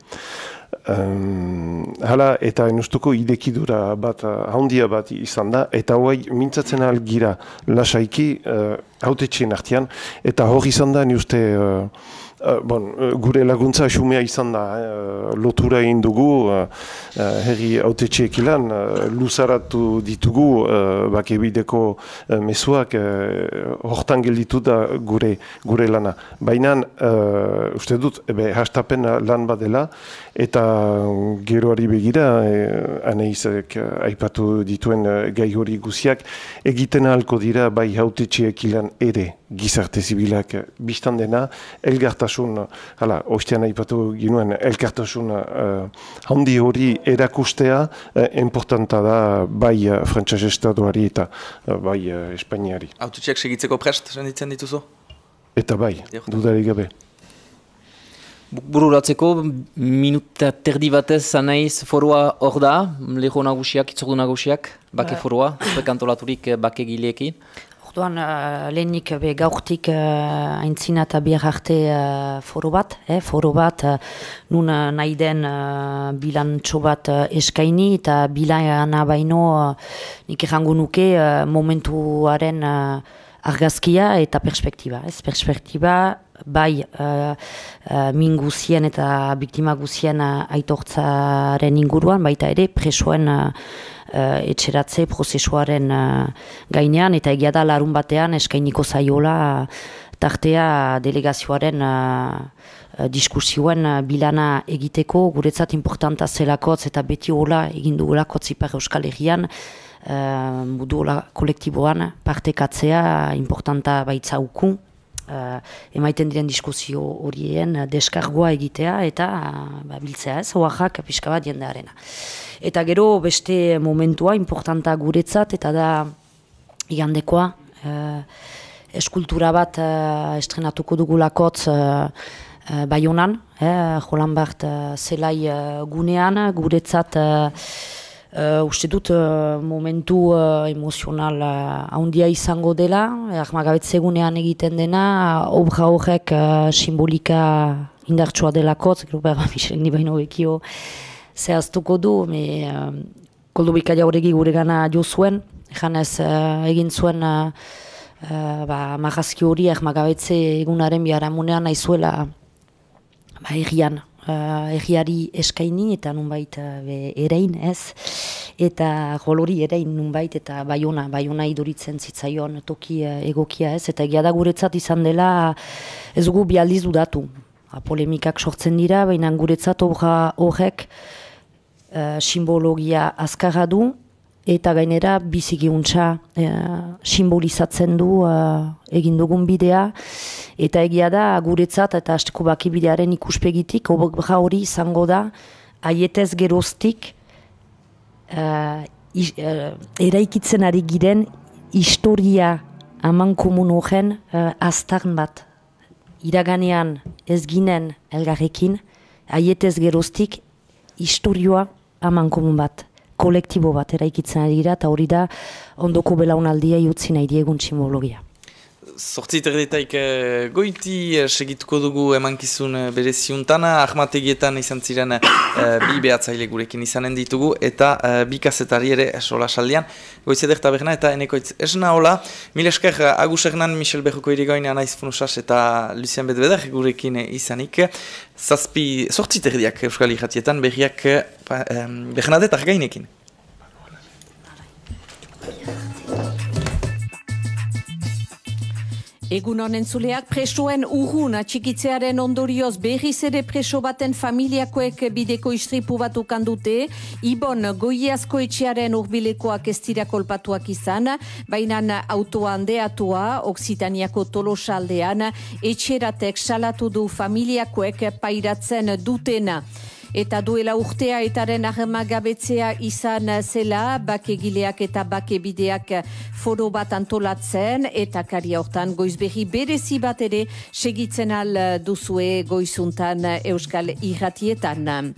Um, hala, eta enustuko idekidura bat, handia bat izan da, eta hoai mintzatzen algira lasaiki uh, hautetxeen artean, eta hor izan da, ni uste, uh, Uh, bon, uh, gure laguntza xumea izan da, uh, lotura egin dugu, uh, uh, herri hautetxeek ilan, uh, luzaratu ditugu, uh, bakebideko uh, mezuak, uh, hortan gelditu da gure, gure lana. Baina, uh, uste dut, ebe, hastapen lan badela, eta geroari begira, eh, Anaizek uh, aipatu dituen uh, gai hori guziak, egiten ahalko dira bai hautetxeek ilan ere gizarte zibilak biztan dena, elgartasun, hala, ostean aipatu ginuen, elgartasun uh, handi hori erakustea uh, importanta da bai uh, Frantses Estatuari eta uh, bai uh, Espainiari. Hautetxeak segitzeko prest, senditzen dituzu? Eta bai, dudarik gabe. Bururatzeko, minuta terdi batez Anaiz forua hor da, leho nagusiak, itzordu nagusiak, bake forua, prekantolaturik bake gileekin. Orduan, uh, lehenik be gaurtik uh, aintzina eta bihar arte uh, foro bat, eh, foro bat uh, nun uh, nahi den uh, bilantxo bat uh, eskaini eta bilana baino uh, nik errango nuke uh, momentuaren uh, argazkia eta perspektiba. Ez perspektiba bai uh, uh, min guzien eta biktima guzien uh, aitortzaren inguruan, baita ere presoen uh, Uh, etxeratze prozesuaren uh, gainean, eta egia da larun batean eskainiko zaiola uh, tartea delegazioaren uh, uh, diskursioen uh, bilana egiteko, guretzat importanta zelakotz eta beti hola egin dugulakotz Ipar Euskal Herrian, uh, mudu hola kolektiboan partekatzea importanta baitzauku. Uh, emaiten diren diskusio horien uh, deskargoa egitea eta uh, ba, biltzea ez, oaxak pixka bat jendearena. Eta gero beste momentua importanta guretzat eta da igandekoa uh, eskultura bat uh, estrenatuko dugulakotz uh, uh, Baionan, eh, Jolan Bart uh, zelai uh, gunean guretzat uh, Uh, uste dut uh, momentu uh, emozional uh, handia izango dela, ahmagabetzegunean egiten dena, obra horrek uh, simbolika indartsua delakotz, gero behar Michel ni baino bekio zehaztuko du, me uh, Koldubika jauregi gure gana jo zuen, janez uh, egin zuen uh, uh, ba, marrazki hori ahmagabetze egunaren biharamunean naizuela ba, errian. Uh, erriari eskaini eta nunbait uh, erein ez, eta golori erein nunbait eta Baiona, Baiona iduritzen zitzaion toki uh, egokia ez, eta egia da guretzat izan dela ez dugu bi aldiz dudatu. polemikak sortzen dira, baina guretzat obra horrek uh, simbologia azkarra du, eta gainera bizigiuntza uh, simbolizatzen du uh, egin dugun bidea, eta egia da guretzat eta hasteko baki bidearen ikuspegitik, obra hori izango da, aietez geroztik, uh, is, uh, eraikitzen ari giren historia aman komun horren uh, aztarn bat. Iraganean ez ginen elgarrekin, aietez geroztik historioa aman komun bat, kolektibo bat eraikitzen ari gira, eta hori da ondoko belaunaldia utzi nahi diegun simbologia. Zortzi terdetaik goiti segituko dugu emankizun bereziuntan, ahmategietan izan ziren bi behatzaile gurekin izanen ditugu, eta bi kazetari ere sola saldian, Goiz Eder Taberna eta Enekoitz Esna, hola, mil esker Agus Hernan, Michel Berruko irigoin, Anaiz Funusas eta Lucien Bedbeder gurekin izanik, zazpi, zortzi terdiak Euskal Irratietan berriak Bernadet Argainekin. Egun honen zuleak presoen urrun atxikitzearen ondorioz berriz ere preso baten familiakoek bideko istripu bat ukan dute, Ibon Goiazko etxearen urbilekoak ez dira kolpatuak izan, baina autoa handeatua, Oksitaniako Tolosa aldean, etxeratek salatu du familiakoek pairatzen dutena. Eta duela urtea etaren armagabetzea izan zela, bakegileak eta bakebideak foro bat antolatzen, eta karia hortan goizberri berezi bat ere segitzen al duzue goizuntan Euskal Irratietan.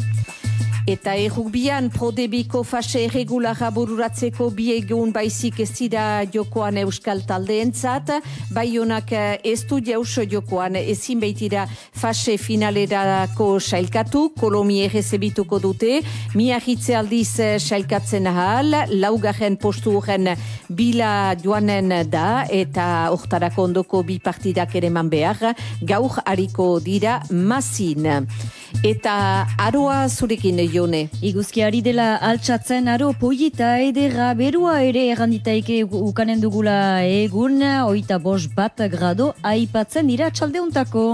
Eta errukbian prodebiko fase erregulara bururatzeko bi egun baizik ez dira jokoan euskal taldeentzat, Baionak ez du jaus jokoan ezin baitira fase finalerako sailkatu, Kolomi errezebituko dute, Miarritze aldiz sailkatzen ahal, laugarren postu horren bila joanen da, eta hortarako ondoko bi partidak ere man behar, gaur hariko dira mazin. Eta aroa zurekin, Jone. Iguzkiari dela altxatzen aro poieta edera berua ere erranditaike ukanen dugula egun, oita bos bat grado aipatzen dira txaldeuntako.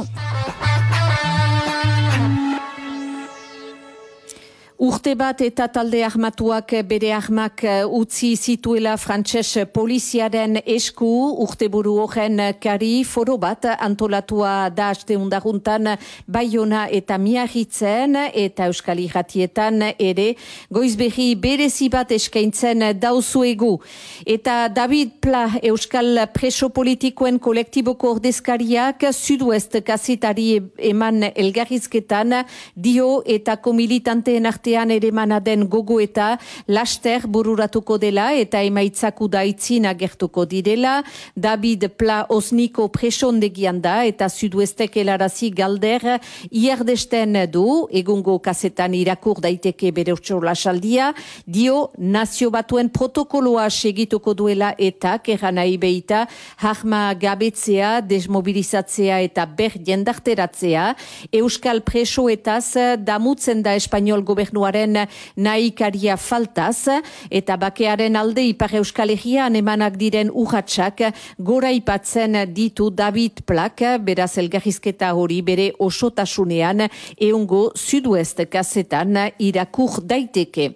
Urte bat eta talde armatuak bere armak utzi zituela frantses poliziaren esku, urteburu horren kari foro bat antolatua da aste undaruntan Baiona eta Miarritzen eta Euskal Irratietan ere goizberri berezi bat eskaintzen dauzuegu. Eta David Pla Euskal preso politikoen kolektiboko ordezkariak Sudoest kazetari eman elgarrizketan dio eta komilitanteen arte ere manaden gogo eta laster bururatuko dela eta emaitzaku daitzin agertuko direla. David Pla Osniko presondegian da eta Sudoestek helarazi galder iardesten du, egungo kazetan irakur daiteke bere urtsola saldia, dio nazio batuen protokoloa segituko duela eta kerranai behita harma gabetzea, desmobilizatzea eta ber jendarteratzea, Euskal presoetaz damutzen da Espainiol gobernu nahikaria faltaz, eta bakearen alde Ipar Euskal Herrian emanak diren urratsak gora ipatzen ditu David Plak, beraz elgarrizketa hori bere osotasunean eungo Sudoest kazetan irakur daiteke.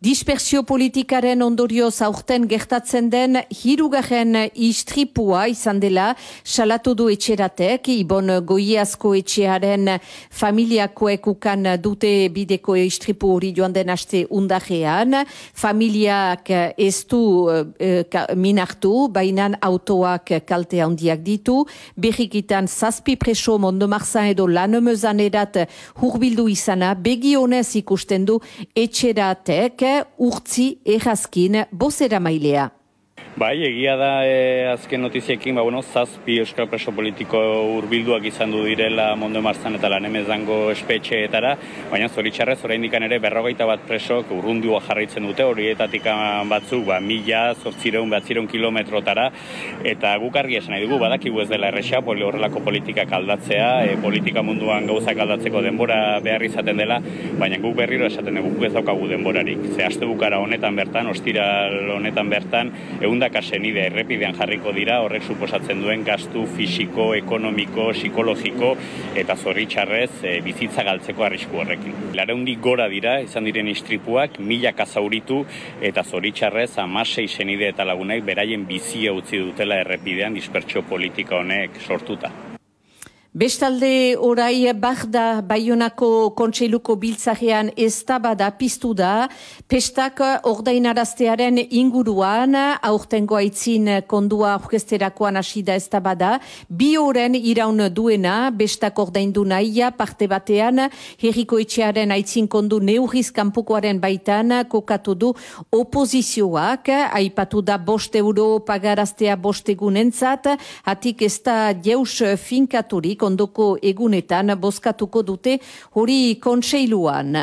Dispersio politikaren ondorioz aurten gertatzen den hirugarren istripua izan dela salatu du etxeratek, Ibon Goiazko etxearen familiakoek ukan dute bideko istripu hori joan den aste undajean, familiak ez du e, minartu, bainan autoak kalte handiak ditu, berrikitan zazpi preso Mondomarzan edo Lanemezan edat hurbildu izana begionez ikusten du etxeratek, urtzi errazkin bozera mailea. Bai, egia da e, azken notiziekin, ba, bueno, zazpi euskal preso politiko hurbilduak izan du direla Mondomarzan eta Lanemezango espetxeetara, baina zoritxarrez oraindikan ere berrogeita bat presok urrundua jarraitzen dute, horietatik batzuk ba, mila, zortzireun, batzireun kilometrotara, eta guk argi esan nahi dugu, badakigu ez dela erresa, poli horrelako politikak aldatzea, e, politika munduan gauzak aldatzeko denbora behar izaten dela, baina guk berriro esaten dugu, guk ez daukagu denborarik. Ze aste bukara honetan bertan, ostiral honetan bertan, eunda milaka senide errepidean jarriko dira, horrek suposatzen duen gastu fisiko, ekonomiko, psikologiko eta zoritxarrez e, bizitza galtzeko arrisku horrekin. Lareundi gora dira, izan diren istripuak, milaka zauritu eta zoritxarrez hamasei senide eta lagunek beraien bizia utzi dutela errepidean dispertsio politika honek sortuta. Bestalde orai Barda Baionako Kontseiluko biltzarean eztabada piztu da, pestak ordainaraztearen inguruan, aurtengo aitzin kondua aurkezterakoan hasi da eztabada, bi oren iraun duena, bestak ordaindu nahia, parte batean, herriko etxearen aitzin kondu neurriz kanpokoaren baitan, kokatu du opozizioak, aipatu da bost euro pagaraztea bost egunentzat, hatik ez da jeus finkaturik, ondoko egunetan bozkatuko dute hori kontseiluan.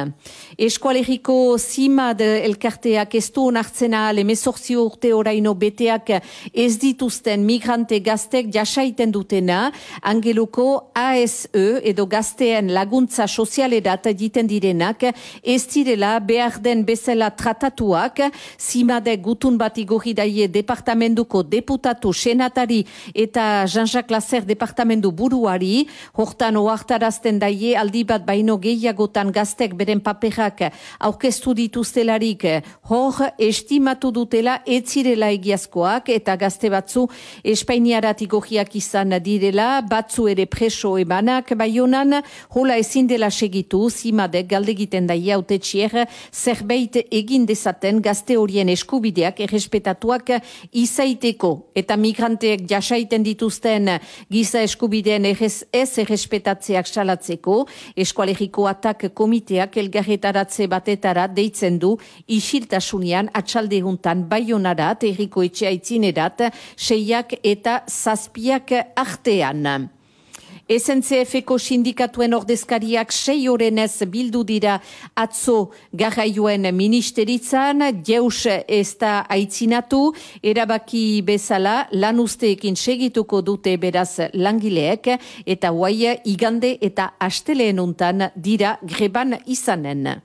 Eskualeriko Zimad elkarteak ez du onartzen ahal emezortzio urte oraino beteak ez dituzten migrante gaztek jasaiten dutena, Angeluko A S E edo gazteen laguntza sozialerat egiten direnak ez direla behar den bezala tratatuak, Zimadek gutun bat igorri daie departamentuko deputatu senatari eta Jean-Jacques Lasser departamentu buruari, hortan oartarazten daie aldi bat baino gehiagotan gaztek beren paperak aurkeztu dituztelarik hor estimatu dutela etzirela egiazkoak eta gazte batzu Espainiarat igogiak izan direla, batzu ere preso ebanak Baionan, hola ezin dela segitu, Zimadek galdegiten daie hautetsier zerbait egin dezaten gazte horien eskubideak errespetatuak izaiteko eta migranteek jasaiten dituzten giza eskubideen errez ez errespetatzeak salatzeko, Eskualeriko Atak komiteak elgarretaratze batetara deitzen du isiltasunean atxaldehuntan Baionarat, herriko etxea itzinerat, seiak eta zazpiak artean. S N C F-ko sindikatuen ordezkariak sei orenez bildu dira atzo garraioen ministeritzan, jeus ez da aitzinatu, erabaki bezala lan usteekin segituko dute beraz langileek, eta guai igande eta asteleen untan dira greban izanen.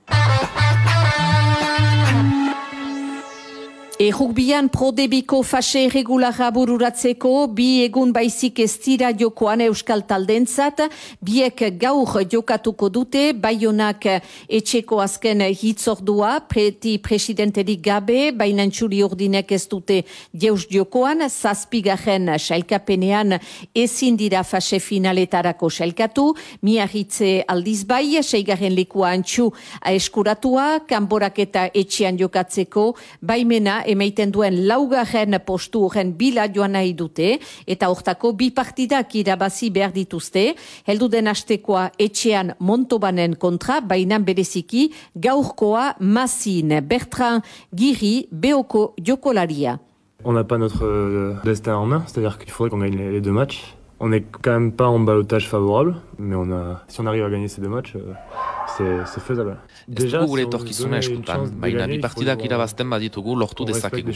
Errugbian prodebiko fase irregularra bururatzeko, bi egun baizik ez dira jokoan euskal taldentzat, biek gaur jokatuko dute, Baionak etxeko azken hitzordua, preti presidenterik gabe, baina txuri ordinek ez dute jeus jokoan, zazpigarren sailkapenean ezin dira fase finaletarako sailkatu, miarritze aldiz bai, seigarren lekua antxu eskuratua, kanborak eta etxean jokatzeko, baimena emaiten duen laugarren postu horren bila joan nahi dute, eta hortako bi partidak irabazi behar dituzte, heldu den astekoa etxean Montobanen kontra, bainan bereziki gaurkoa Mazin, Bertrand Giri, Beoko jokolaria. On n'a pas notre euh, destin en main, c'est-à-dire qu'il faudrait qu'on gagne les, les deux matchs. On n'est quand même pas en ballottage favorable, mais on a, si on arrive à gagner ces deux matchs, euh, c'est faisable. Ez dugu gure etorkizuna eskutan, baina bi partidak irabazten baditugu lortu dezakegu.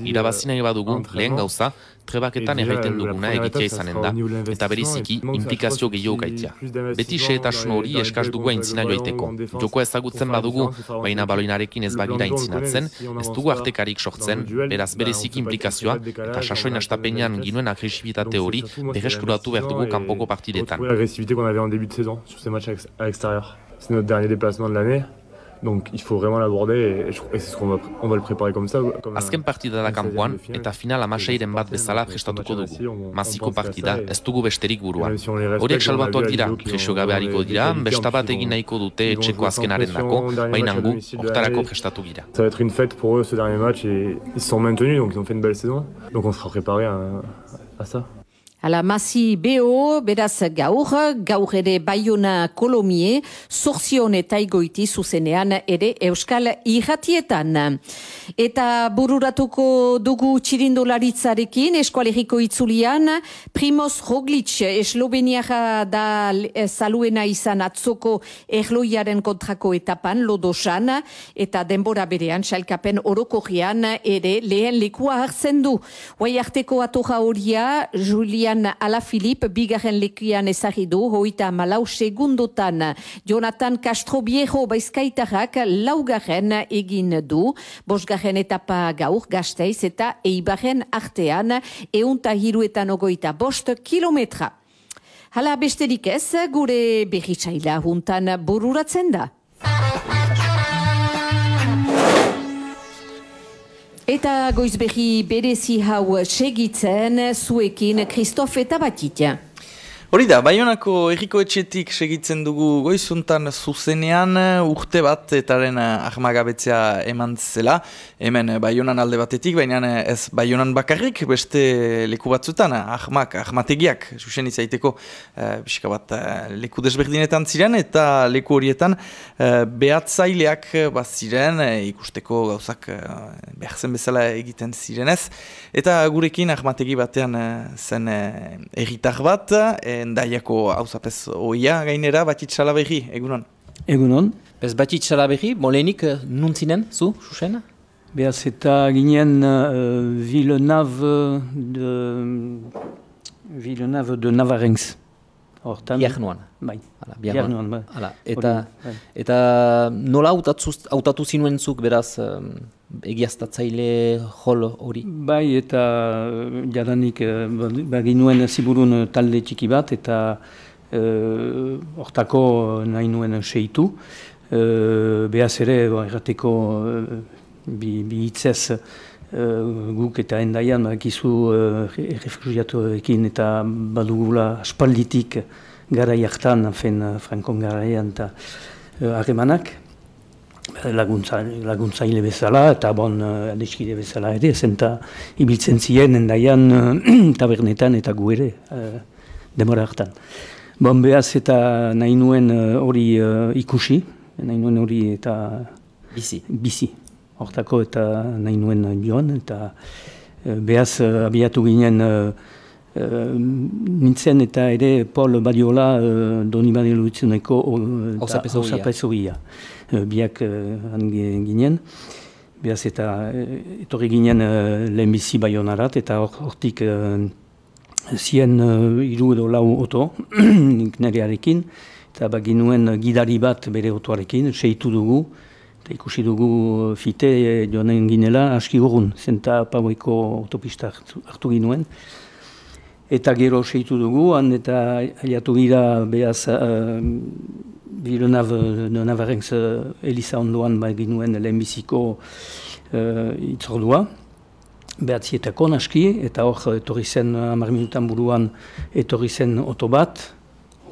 Irabazi nahi badugu, lehen gauza, trebaketan erraiten duguna egitea izanen da, eta beriziki implikazio gehiago gaitia. Beti xehetasun hori eskaz dugu aintzina joaiteko. Joko ezagutzen badugu, baina baloinarekin ez bagira aintzinatzen, ez dugu artekarik sortzen, beraz bereziki implikazioa, eta sasoin astapenean ginuen agresibitate hori berreskuratu behar dugu kanpoko partidetan. C'est notre dernier déplacement de l'année, donc il faut vraiment l'aborder et, et c'est ce qu'on va, on va le préparer comme ça. Comme Azken partida da kanpoan eta final amaseiren bat bezala prestatuko dugu. Maziko partida ez dugu besterik buruan. Horiek salbatuak dira, presio gabe hariko dira, besta bat egin nahiko dute etxeko azkenaren dako, baina gu, hortarako prestatu gira. Ça va être une fête pour eux ce dernier match et ils se sont maintenus, donc ils ont fait une belle saison, donc on sera préparé à, à ça. Ala Mazi Beo, beraz gaur, gaur ere Baiona Kolomie, Zorzion eta Igoiti zuzenean ere Euskal Irratietan. Eta bururatuko dugu txirindolaritzarekin, Eskualeriko itzulian, Primoz Roglic, Esloveniara da saluena izan atzoko erloiaren kontrako etapan, Lodosan, eta denbora berean, sailkapen orokorrian ere lehen lekua hartzen du. Hoai arteko atorra horia, Julian Julian Alaphilippe bigarren lekuan ezagidu, hoita malau segundotan. Jonathan Castroviejo baizkaitarrak laugarren egin du, bosgarren etapa gaur Gasteiz eta Eibarren artean, eunta hiruetan ogoita bost kilometra. Hala besterik ez, gure berritsaila juntan bururatzen da. Eta goizberri berezi hau segitzen zuekin Christophe eta Batitia. Hori da, Baionako Herriko Etxetik segitzen dugu goizuntan zuzenean urte bat etaren ahmagabetzea eman zela. Hemen Baionan alde batetik, baina ez Baionan bakarrik, beste leku batzutan, ahmak, ahmategiak, susen izaiteko eh, pixka bat eh, leku desberdinetan ziren, eta leku horietan eh, behatzaileak bat ziren, eh, ikusteko gauzak eh, behar zen bezala egiten zirenez. Eta gurekin ahmategi batean eh, zen eh, erritar bat, eh, Endaiako hauzapez oia gainera, Batit Salaberri, egunon? Egunon. Bez Batit Salaberri, molenik nuntzinen, zu, Susena? Beaz eta ginen uh, Villeneuve de, Villeneuve de Navarrenx. Hortan. Biarnuan. Bai. Hala, Biarnuan. Bai. Hala, eta, eta nola hautatu zinuentzuk beraz um, egiaztatzaile jol hori? Bai, eta jadanik baginuen ziburun talde txiki bat, eta hortako uh, nahi nuen seitu. Uh, Beaz ere, errateko uh, bi, bi hitzez uh, guk eta Endaian bakizu uh, refugiatuekin eta badugula aspalditik garai hartan, fen Frankon garaian eta harremanak. Uh, Laguntza, laguntzaile bezala eta bon uh, adeskide bezala ere, zenta ibiltzen ziren Endaian uh, tabernetan eta gu ere uh, demora hartan. Bon, behaz eta nahi nuen hori uh, uh, ikusi, nahi nuen hori eta bizi. bizi. Hortako eta nahi nuen joan, eta uh, behaz uh, abiatu ginen uh, uh, nintzen eta ere Paul Badiola uh, Doni Badiolutzuneko Osapezogia. Uh, biak uh, ginen. Behaz eta uh, etorri ginen uh, lehenbizi Baionarat, eta hortik uh, zien uh, iru edo lau oto, nerearekin, eta baginuen gidari bat bere otoarekin, seitu dugu, eta ikusi dugu fite joanen ginela aski urrun, zenta Paueko autopista hartu, hartu ginuen. Eta gero seitu dugu, han eta aliatu gira behaz uh, Villeneuve de Navarrenx uh, Eliza ondoan baginuen lehenbiziko uh, itzordua. Behatzietako naski, eta hor etorri zen hamar minutan buruan etorri zen oto bat,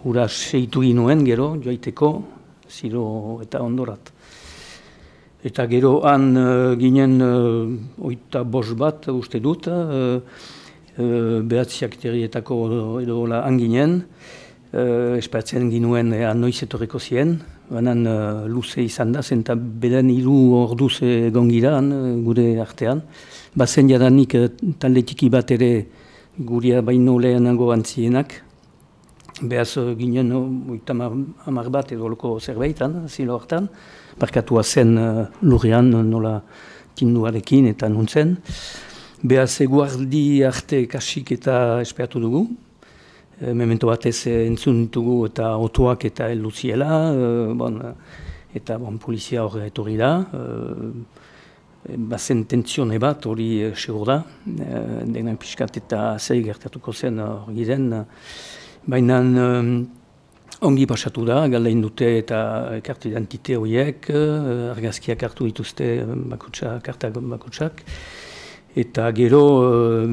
hura seitu ginuen gero, joaiteko, ziro eta ondorat. Eta gero han uh, ginen uh, oita bos bat uste dut, uh, uh, behatziak terrietako edo han ginen, uh, esperatzen ginuen ea noiz etorriko zien, banan uh, luze izan da, zenta beden hiru orduz egon gira uh, gure artean. Bazen jadanik talde txiki bat ere guria baino lehenago antzienak. Behaz ginen oita hamar bat edo loko zerbaitan, zilo hartan. Barkatua zen uh, lurrean nola tinduarekin eta nuntzen. Behaz eguardi arte kasik eta esperatu dugu. E, memento batez entzun dugu eta otoak eta elduziela. Uh, bon, eta bon, polizia hor etorri da. Uh, Bazen tentzione bat hori uh, segur da. Uh, Dena pixkat eta zei gertatuko zen hori den. Baina um, ongi pasatu da, galdein dute eta kartu identite horiek, uh, argazkiak hartu dituzte bakutsa, kartak bakutsak. Eta gero, uh,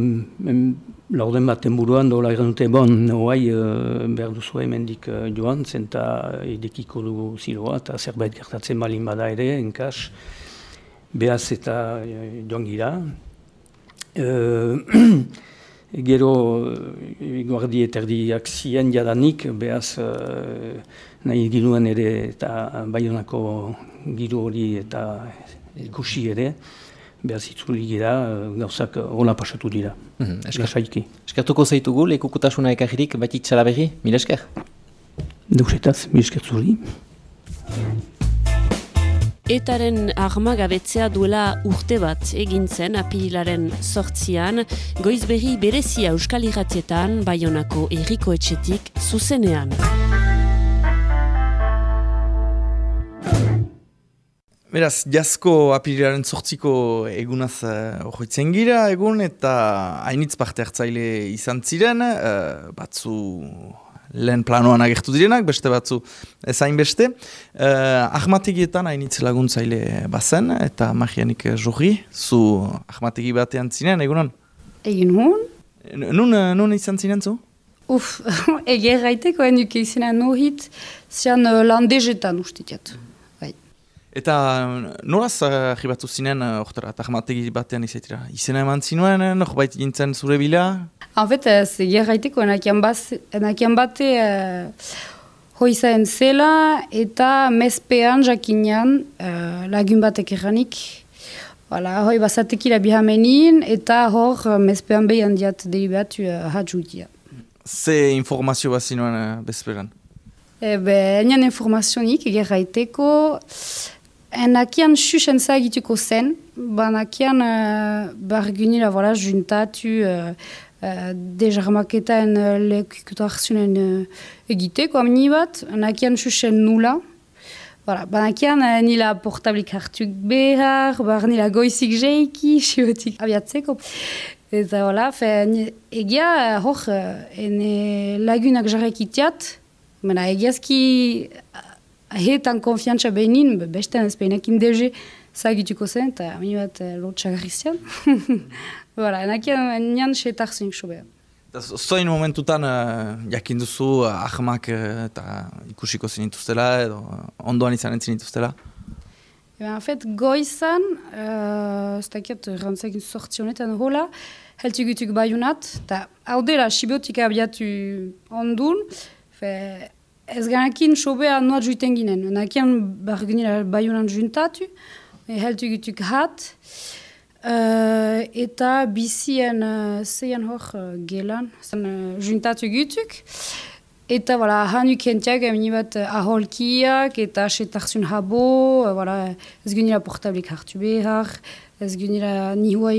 laurden baten buruan dola egan dute, bon, hoai uh, behar duzu hemendik uh, joan, zenta edekiko dugu ziloa, eta zerbait gertatzen balin bada ere, enkas, behaz eta uh, joan gira. Uh, Gero, guardi eterdiak zien jadanik, behaz uh, nahi ginuen ere eta Baionako giro hori eta ikusi ere, behaz itzuli gira, gauzak hola pasatu dira. Mm-hmm. Esker, eskertuko zaitugu, lekukotasuna ekarririk, Batit Salaberri, mila esker? Deusetaz, mila esker zuri. Etaren armagabetzea duela urte bat egin zen apirilaren sortzian, Goizberri berezia Euskal Irratietan, Baionako Herriko Etxetik zuzenean. Beraz, jasko apirilaren sortziko egunaz horretzen uh, gira egun, eta hainitz parte hartzaile izan ziren, uh, batzu lehen planoan agertu direnak, beste batzu ezain beste. Uh, ahmategietan hainitz laguntzaile bazen, eta magianik jorri, zu ahmategi batean zinen, egunan? Egin hon? Nun, nun izan zinen zu? Uf, eger gaiteko enduke izena nohit, zian uh, landezetan ustitiat. Eta nolaz arribatu zinen, ortara, ahmategi batean izaitira? Izena eman zinuen, norbait gintzen zure bila? En fait, c'est gerraiteko enakian bate uh, hoizaen zela eta mezpean jakinean uh, lagun batek erranik. Voilà, hoi bazatekila bihamenin eta hor uh, mezpean behan diat delibatu uh, hatzutia. Ze informazio bat zinuen uh, bezperan? Ebe, enian informazionik gerraiteko enakian xuxen zagituko zen, banakian uh, bargunila voilà, juntatu uh, Uh, dejarmaketaen uh, lekukuta hartzunen uh, egiteko amini bat, nakian xuxen nula. Voilà, banakian uh, nila portablik hartuk behar, bar nila goizik jeiki, xiotik abiatzeko. Eta voilà, fe, egia uh, hor, uh, ene lagunak jarrekitiat, mena egiazki ahetan konfiantza behin, bestean ez behinekin dege zagituko zen, eta amini bat uh, lotxagarrizian. Voilà, enakian nian xetar zenik sobea. Zoin momentutan uh, jakin duzu uh, ahmak uh, eta ikusiko zinituztela edo uh, ondoan izanen zinituztela? En fait, goizan, ez uh, dakiat rantzakin sortzionetan hola, heltugutuk baiunat, eta hau dela xibiotik abiatu ondun, fe, ez ganakin sobea noa juiten ginen. Enakian bargenila baiunan juntatu, heltugutuk hat, Uh, eta bizien uh, zeian hor uh, gelan, zen uh, juntatu gutuk. Eta voilà, hanuk entiak amini bat uh, aholkiak eta setarzun habo, uh, voilà, ez gunila portablik hartu behar, ez gunila nihua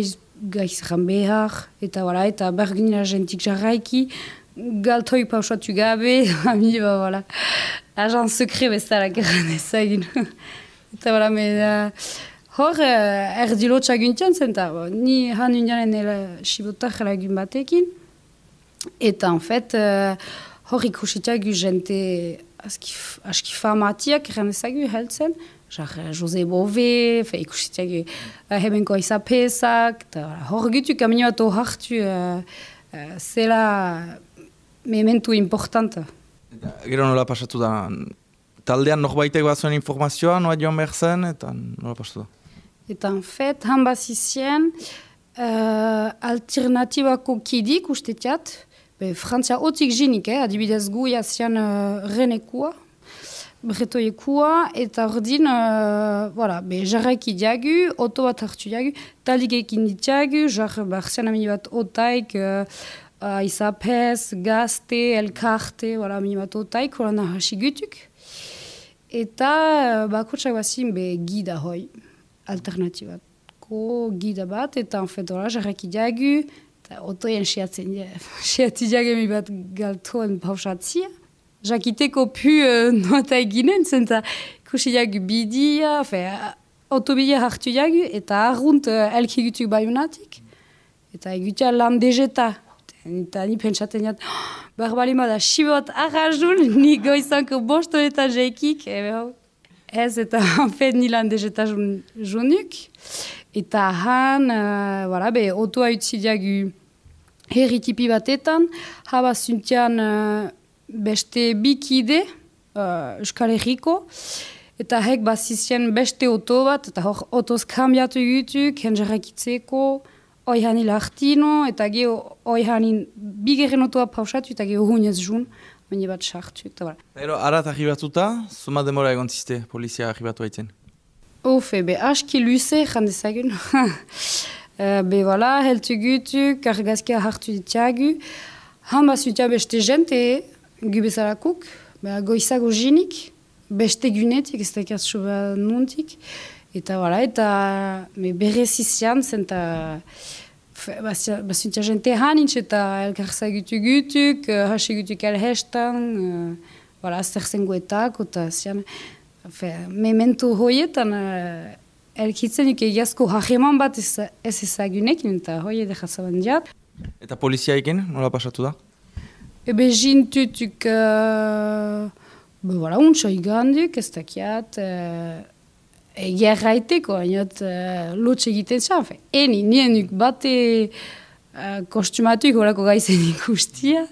gaizran behar, eta voilà, eta ber gunila jentik jarraiki, galtoi pausatu gabe, amini ba, voilà, agent sekre bezala geran ezagin. Eta voilà, me... Uh, Hor, uh, erdilo txaguntian zen, eta ni han undianen sibotak lagun batekin. Eta, en fait, uh, hor ikusitiagu jente aski famatiak erranezagu heltzen. Jar, Jose Bove, ikusitiagu uh, hebenko izapesak. Hor gutu kamini bat hartu uh, uh, zela mementu importanta. Gero nola pasatu da? Taldean norbaitek bat zuen informazioa, noa joan behar zen, eta nola pasatu da? Eta, en fait, han bazizien uh, alternatibako kidik ustetiat, be, Frantzia otik jinik, eh, adibidez gu jazian uh, renekua, bretoiekua, eta ordin, uh, voilà, be, jarraiki diagu, oto bat hartu diagu, talik ekin ditiagu, jar, barzian amini bat otaik, uh, uh, izapez, gazte, elkarte, voilà, amini bat otaik, hola nahasi gutuk. Eta, uh, bakotsak bazin, be, gida hoi. Alternatibatko gida bat, eta en fait, hola, jarraki diagu, eta otoien siatzen siati diagemi bat galtoen pausatzia. Jakiteko pu uh, nota eginen, zenta kusi diagu bidia, fe, otobidia hartu diagu, eta arrunt uh, elkigutuk baiunatik, eta egutia lan dejeta. Eta ni pentsaten jat, oh, barbalima da xibot arrazun, ni goizanko bosto eta jeikik, ebe hau. Ez, eta hanfet nilan dezeta jonuk. Eta han, uh, voilà, be, otoa utzi diagu herritipi batetan, haba zuntian uh, beste bikide, uh, Euskal Herriko, eta hek bazizien beste oto bat, eta hor otoz kambiatu gutuk, henjarrakitzeko, oihanin lartino, eta geho oihanin bigeren otoa pausatu, eta geho hunez jun. Baina bat sartu, eta bera. Ero, arat arribatuta, zuma demora egon ziste, polizia arribatu haitzen? Ofe, be, aski luze, jandezagun. uh, be, voilà, heltu gutuk, argazkia hartu ditiagu. Han basutia beste jente, gu bezarakuk, be, goizago jinik, beste gunetik, ez dakit soba nuntik. Eta, voilà, eta berrez izan zen, eta bazintia jente hanitz, eta elkarza gutu-gutuk, hasi gutuk elhestan, voilà, zer zengoetak, eta zian, memento hoietan, elkitzen nik egiazko hageman bat ez ezagunekin, eta hoi edekatzaban diat. Eta poliziaiken, nola pasatu da? Ebe jintutuk, be voilà, untsa iganduk, ez dakiat, egia erraiteko, hainot lotx egiten zan, eni, nienuk bate kostumatuk horako gaizen ikustia,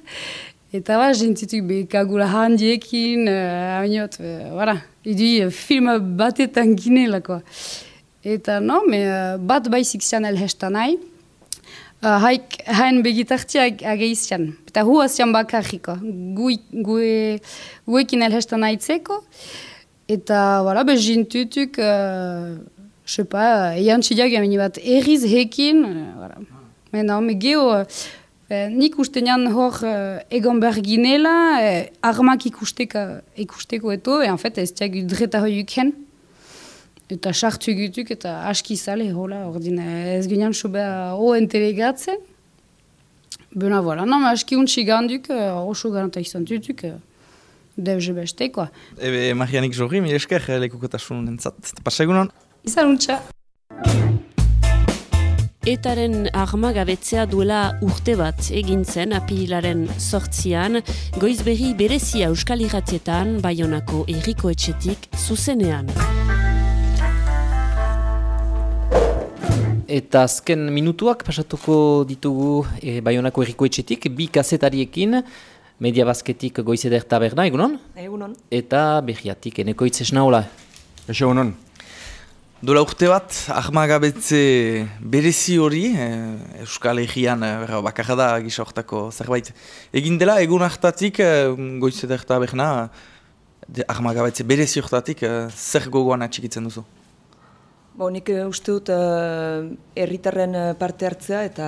eta ba, jintutuk be kagula handiekin, hainot, voilà, idui film batetan ginelako. Eta no, me bat baizik zian elhestan nahi, haik hain begitartiak ageizian. Eta hua zian bakarriko, guekin elhestan nahitzeko. Eta, voilà, be jintutuk, je sais pas, eian txidiak jamini bat erriz hekin, voilà. Mena, me geho, nik ustenean hor egon behar ginela, armak ikusteko eto, en fait, ez tiak dreta hoiuk hen. Eta sartu egituk eta aski zale, hola, ordin ez ginean sobea o entelegatzen. Bena, voilà, no, aski untsi ganduk, oso garanta izan dutuk, deuze beste, koa. Ebe, Marianik Jorri, mire esker lekukotasun entzat. Pasa egunon? Izan untxa. Etaren armagabetzea duela urte bat egin zen apirilaren sortzian, Goizberri berezia Euskal Irratietan, Baionako Herriko Etxetik zuzenean. Eta azken minutuak pasatuko ditugu e, Baionako Herriko Etxetik, bi kazetariekin, Media Basketik Goizeder Taberna, egunon? Egunon. Eta Berriatik Enekoitz esnaola. Eixo, egunon. Dola urte bat, armagabetze berezi hori, e, Euskal Herrian e, bakarra da gisa hortako zerbait. Egin dela, egun hartatik e, Goizeder Taberna, armagabetze berezi hortatik, e, zer gogoan atxikitzen duzu? Bo, nik uste dut herritarren uh, parte hartzea eta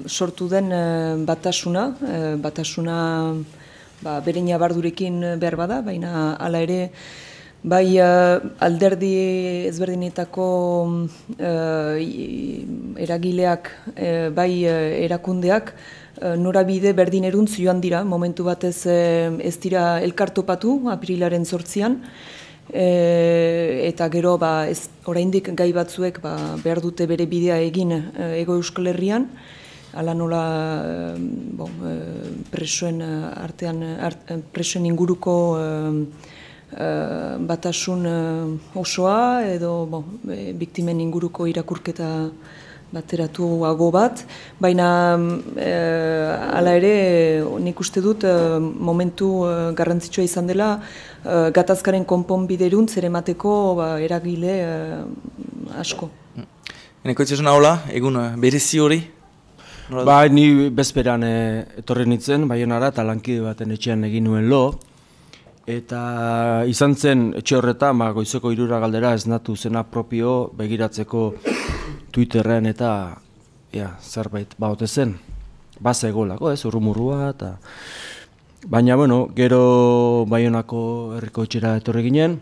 sortu den uh, batasuna, uh, batasuna ba, bere nabardurekin behar bada, baina hala ere bai uh, alderdi ezberdinetako uh, eragileak, uh, bai uh, erakundeak, uh, norabide berdin eruntz joan dira, momentu batez uh, ez dira elkartopatu apirilaren sortzian, E, eta gero ba, ez, oraindik gai batzuek ba, behar dute bere bidea egin e, Ego Euskal Herrian, ala nola e, bon, e, presoen artean, art, presoen inguruko e, e, batasun e, osoa edo bon, e, biktimen inguruko irakurketa bateratuago bat, baina e, hala ere nik uste dut e, momentu e, garrantzitsua izan dela e, gatazkaren konponbideruntz ere emateko ba, eragile e, asko. Eneko itxasun hola, egun berezi hori? Ba, ni bezperan e, etorri nintzen, Baionara eta lankide baten etxean egin nuen lo. Eta izan zen etxe horretan, ba, goizeko hirura galdera esnatu zena propio begiratzeko Twitterren eta ja, zerbait baote zen. Baza egolako, ez, urrumurrua eta... Baina, bueno, gero Baionako herriko etxera etorri ginen,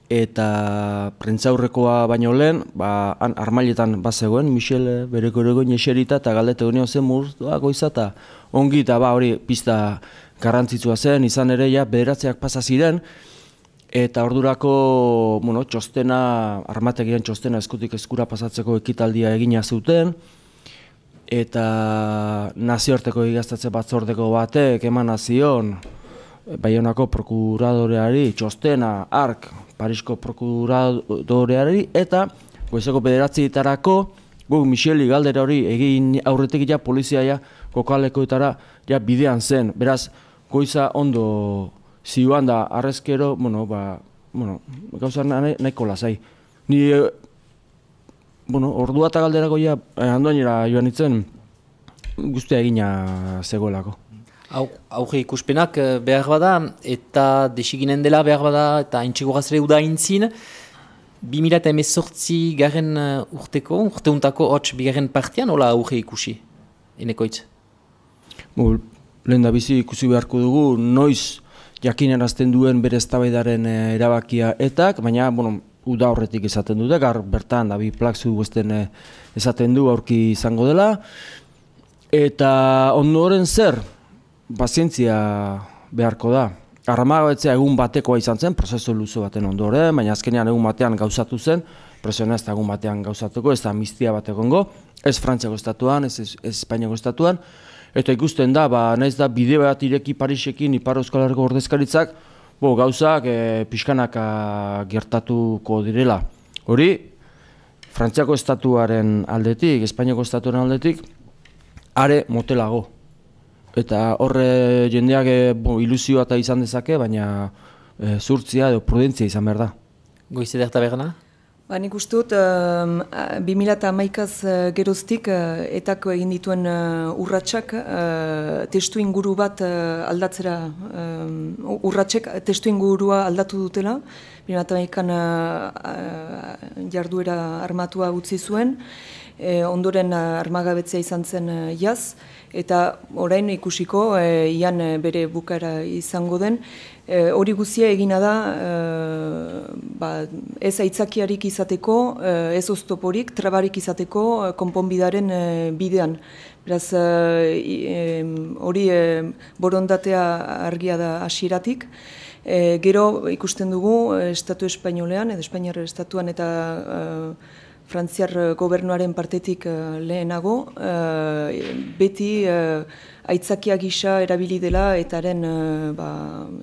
eta prentzaurrekoa baino lehen, ba, han armailetan bazegoen, Michel bereko eregoin eserita eta galdete guen zen murtua goiza eta ongi eta ba hori pista garrantzitsua zen, izan ere ja bederatzeak pasa ziren, eta ordurako, bueno, txostena, armategian txostena eskutik eskura pasatzeko ekitaldia egina zuten, eta nazioarteko igaztatze batzordeko batek eman zion Baionako prokuradoreari txostena, ark, Parisko prokuradoreari, eta goizeko bederatzitarako guk Micheli galdera hori egin aurretik ja polizia ja kokalekoetara ja bidean zen, beraz goiza ondo zioan da arrezkero, bueno, ba, bueno, gauza nahiko lasai. Ni, bueno, ordua eta galderako ja handoainera joan nintzen guztia egina zegoelako. Auge ikuspenak behar bada, eta desiginen dela behar bada, eta intxego gazere uda intzin, bi mila hemezortzi garen urteko, urteuntako hots bigarren partian, hola auge ikusi, Enekoitz? Lehen da bizi ikusi beharko dugu, noiz jakinarazten duen bere eztabaidaren erabakia etak, baina, bueno, uda horretik esaten dute, gar bertan, da bi plakzu guztien esaten du aurki izango dela, eta ondoren zer, pazientzia beharko da. Armagabetzea egun batekoa izan zen, prozesu luze baten ondoren, baina azkenean egun batean gauzatu zen, presiona ez da egun batean gauzatuko, ez da amnistia bat egongo, ez Frantziako estatuan, ez, ez Espainiako estatuan, eta ikusten da, ba, naiz da bide bat ireki Parisekin Ipar Euskal Herriko ordezkaritzak, bo, gauzak e, pixkanaka gertatuko direla. Hori, Frantziako estatuaren aldetik, Espainiako estatuaren aldetik, are motelago. Eta horre jendeak e, bo, ilusioa eta izan dezake, baina e, zurtzia edo prudentzia izan behar da. Goiz ederta berna? Ba, nik uste dut, um, bi mila hamaikaz uh, geroztik uh, etako egin dituen uh, urratsak uh, testu inguru bat uh, aldatzera, um, urratsek testu ingurua aldatu dutela. bi mila hamaikan uh, uh, jarduera armatua utzi zuen, e, ondoren uh, armagabetzea izan zen uh, jaz, eta orain ikusiko, e, ian bere bukaera izango den, E, hori guzia egina da, e, ba, ez aitzakiarik izateko, e, ez oztoporik, trabarik izateko e, konponbidaren e, bidean. Beraz, hori e, e, borondatea argia da hasieratik. E, gero ikusten dugu Estatu Espainolean, edo Espainiar Estatuan eta e, Frantziar gobernuaren partetik uh, lehenago, uh, beti uh, aitzakia gisa erabili dela etaren uh, ba,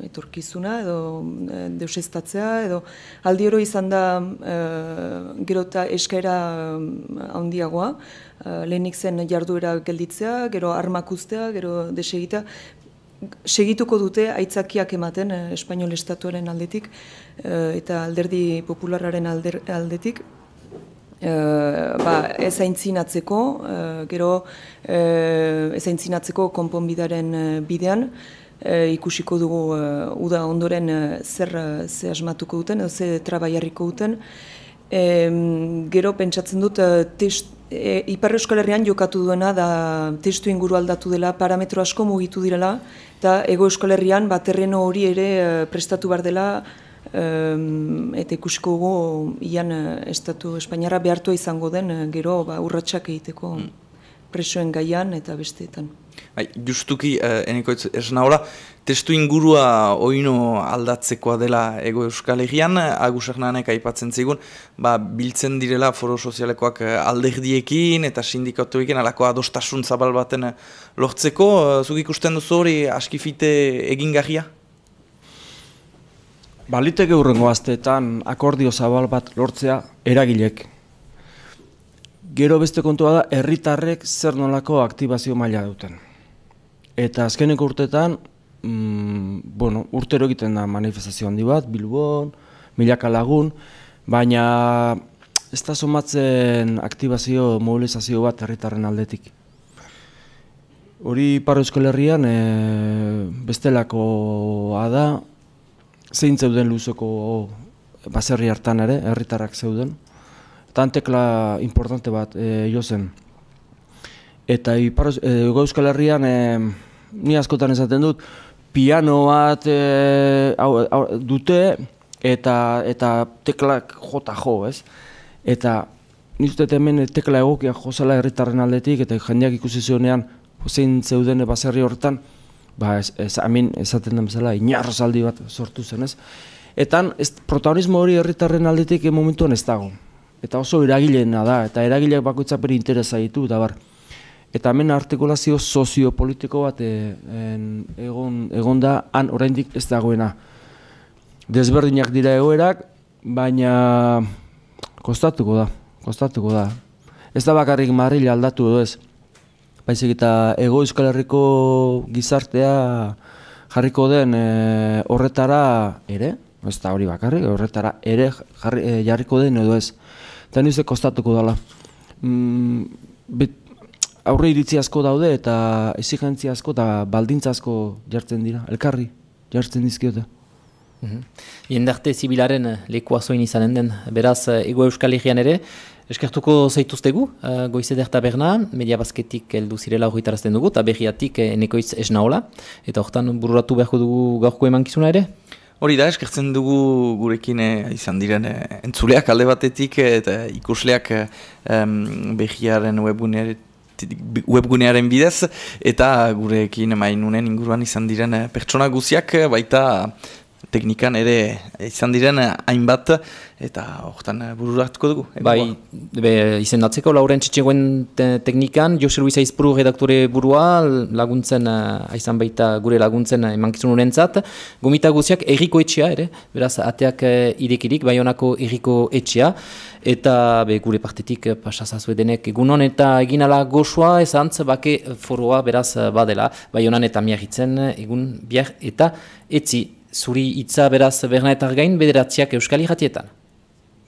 etorkizuna edo uh, deusestatzea, edo aldi oro izan da uh, gero eta eskaera uh, handiagoa, uh, lehenik zen jarduera gelditzea, gero armak uztea, gero desegita. Segituko dute aitzakiak ematen uh, Espainol Estatuaren aldetik uh, eta alderdi popularraren alder, aldetik. Uh, ba, ez aintzinatzeko, uh, gero uh, ez aintzinatzeko konponbidaren uh, bidean, uh, ikusiko dugu uh, uda ondoren uh, zer uh, ze asmatuko duten, edo ze trabaiarriko duten. Um, gero pentsatzen dut, uh, test, e, Ipar Euskal Herrian jokatu duena da testu inguru aldatu dela, parametro asko mugitu direla, eta Ego Euskal Herrian ba, terreno hori ere uh, prestatu behar dela, Um, eta ikusiko dugu ian Estatu Espainiarra behartua izango den gero ba, urratsak egiteko mm. presoen gaian eta besteetan. Bai, justuki, eh, eneko esna hola, testu ingurua oino aldatzekoa dela Ego Euskal Herrian, Agus Hernanek aipatzen zigun, ba, biltzen direla foro sozialekoak alderdiekin eta sindikatuekin alako adostasun zabal baten lortzeko, zuk ikusten duzu hori askifite egingarria? Baliteke hurrengo asteetan akordio zabal bat lortzea eragilek. Gero beste kontua da, herritarrek zer nolako aktibazio maila duten. Eta azkeneko urteetan, mm, bueno, urtero egiten da manifestazio handi bat, Bilbon, milaka lagun, baina ez da somatzen aktibazio, mobilizazio bat herritarren aldetik. Hori Ipar Euskal Herrian e, bestelakoa da, zein zeuden luzeko baserri hartan ere, herritarrak zeuden. Eta tekla importante bat e, jo zen. Eta Ipar e, Euskal Herrian, e, ni askotan esaten dut, piano bat e, au, au, dute eta, eta teklak jota jo, ez? Eta ni uste hemen tekla egokia jozela herritarren aldetik, eta jendeak ikusi zuenean zein zeuden baserri horretan, ba, ez, ez, amin, esaten den bezala, inarrozaldi bat sortu zen, ez? Eta ez, protagonismo hori herritarren aldetik momentuan ez dago. Eta oso eragileena da, eta eragileak bakoitzak bere interesa ditu, eta bar. Eta hemen artikulazio soziopolitiko bat e, en, egon, egon da, han oraindik ez dagoena. Desberdinak dira egoerak, baina kostatuko da, kostatuko da. Ez da bakarrik Madril aldatu edo ez. Baizik eta Hego Euskal Herriko gizartea jarriko den e, horretara ere, ez da hori bakarrik, horretara ere jarri, e, jarriko den edo ez. Eta nize kostatuko dela. Mm, bet, aurre iritzi asko daude eta exigentzia asko eta baldintza asko jartzen dira, elkarri jartzen dizkiote. Mm-hmm. Jendarte zibilaren lekua zoin izanen den, beraz Hego Euskal Herrian ere, Eskertuko zaituztegu, uh, Goizeder taberna, media bazketik heldu zirela horretarazten dugu, eta berriatik enekoiz esnaola, eta hortan bururatu beharko dugu gaurko emankizuna ere? Hori da, eskertzen dugu gurekin eh, izan diren eh, entzuleak alde batetik eta ikusleak eh, berriaren webgunearen webgunearen bidez, eta gurekin mainunen inguruan izan diren eh, pertsona guziak, baita teknikan ere izan diren hainbat, eta hortan bururatuko dugu. Bai, be, izendatzeko Lauren Txetxegoen te teknikan, Jose Luis Aizpuru redaktore burua, laguntzen, aizan baita gure laguntzen emankizun honentzat, gomita guziak erriko etxea ere, beraz, ateak irekirik, Baionako erriko etxea, eta be, gure partetik pasazazue denek egunon, eta eginala goxoa, ezantz, bake foroa beraz badela, Baionan eta miarritzen egun biar eta etzi. Zuri hitza beraz Bernaetar gain bederatziak Euskal Irratietan.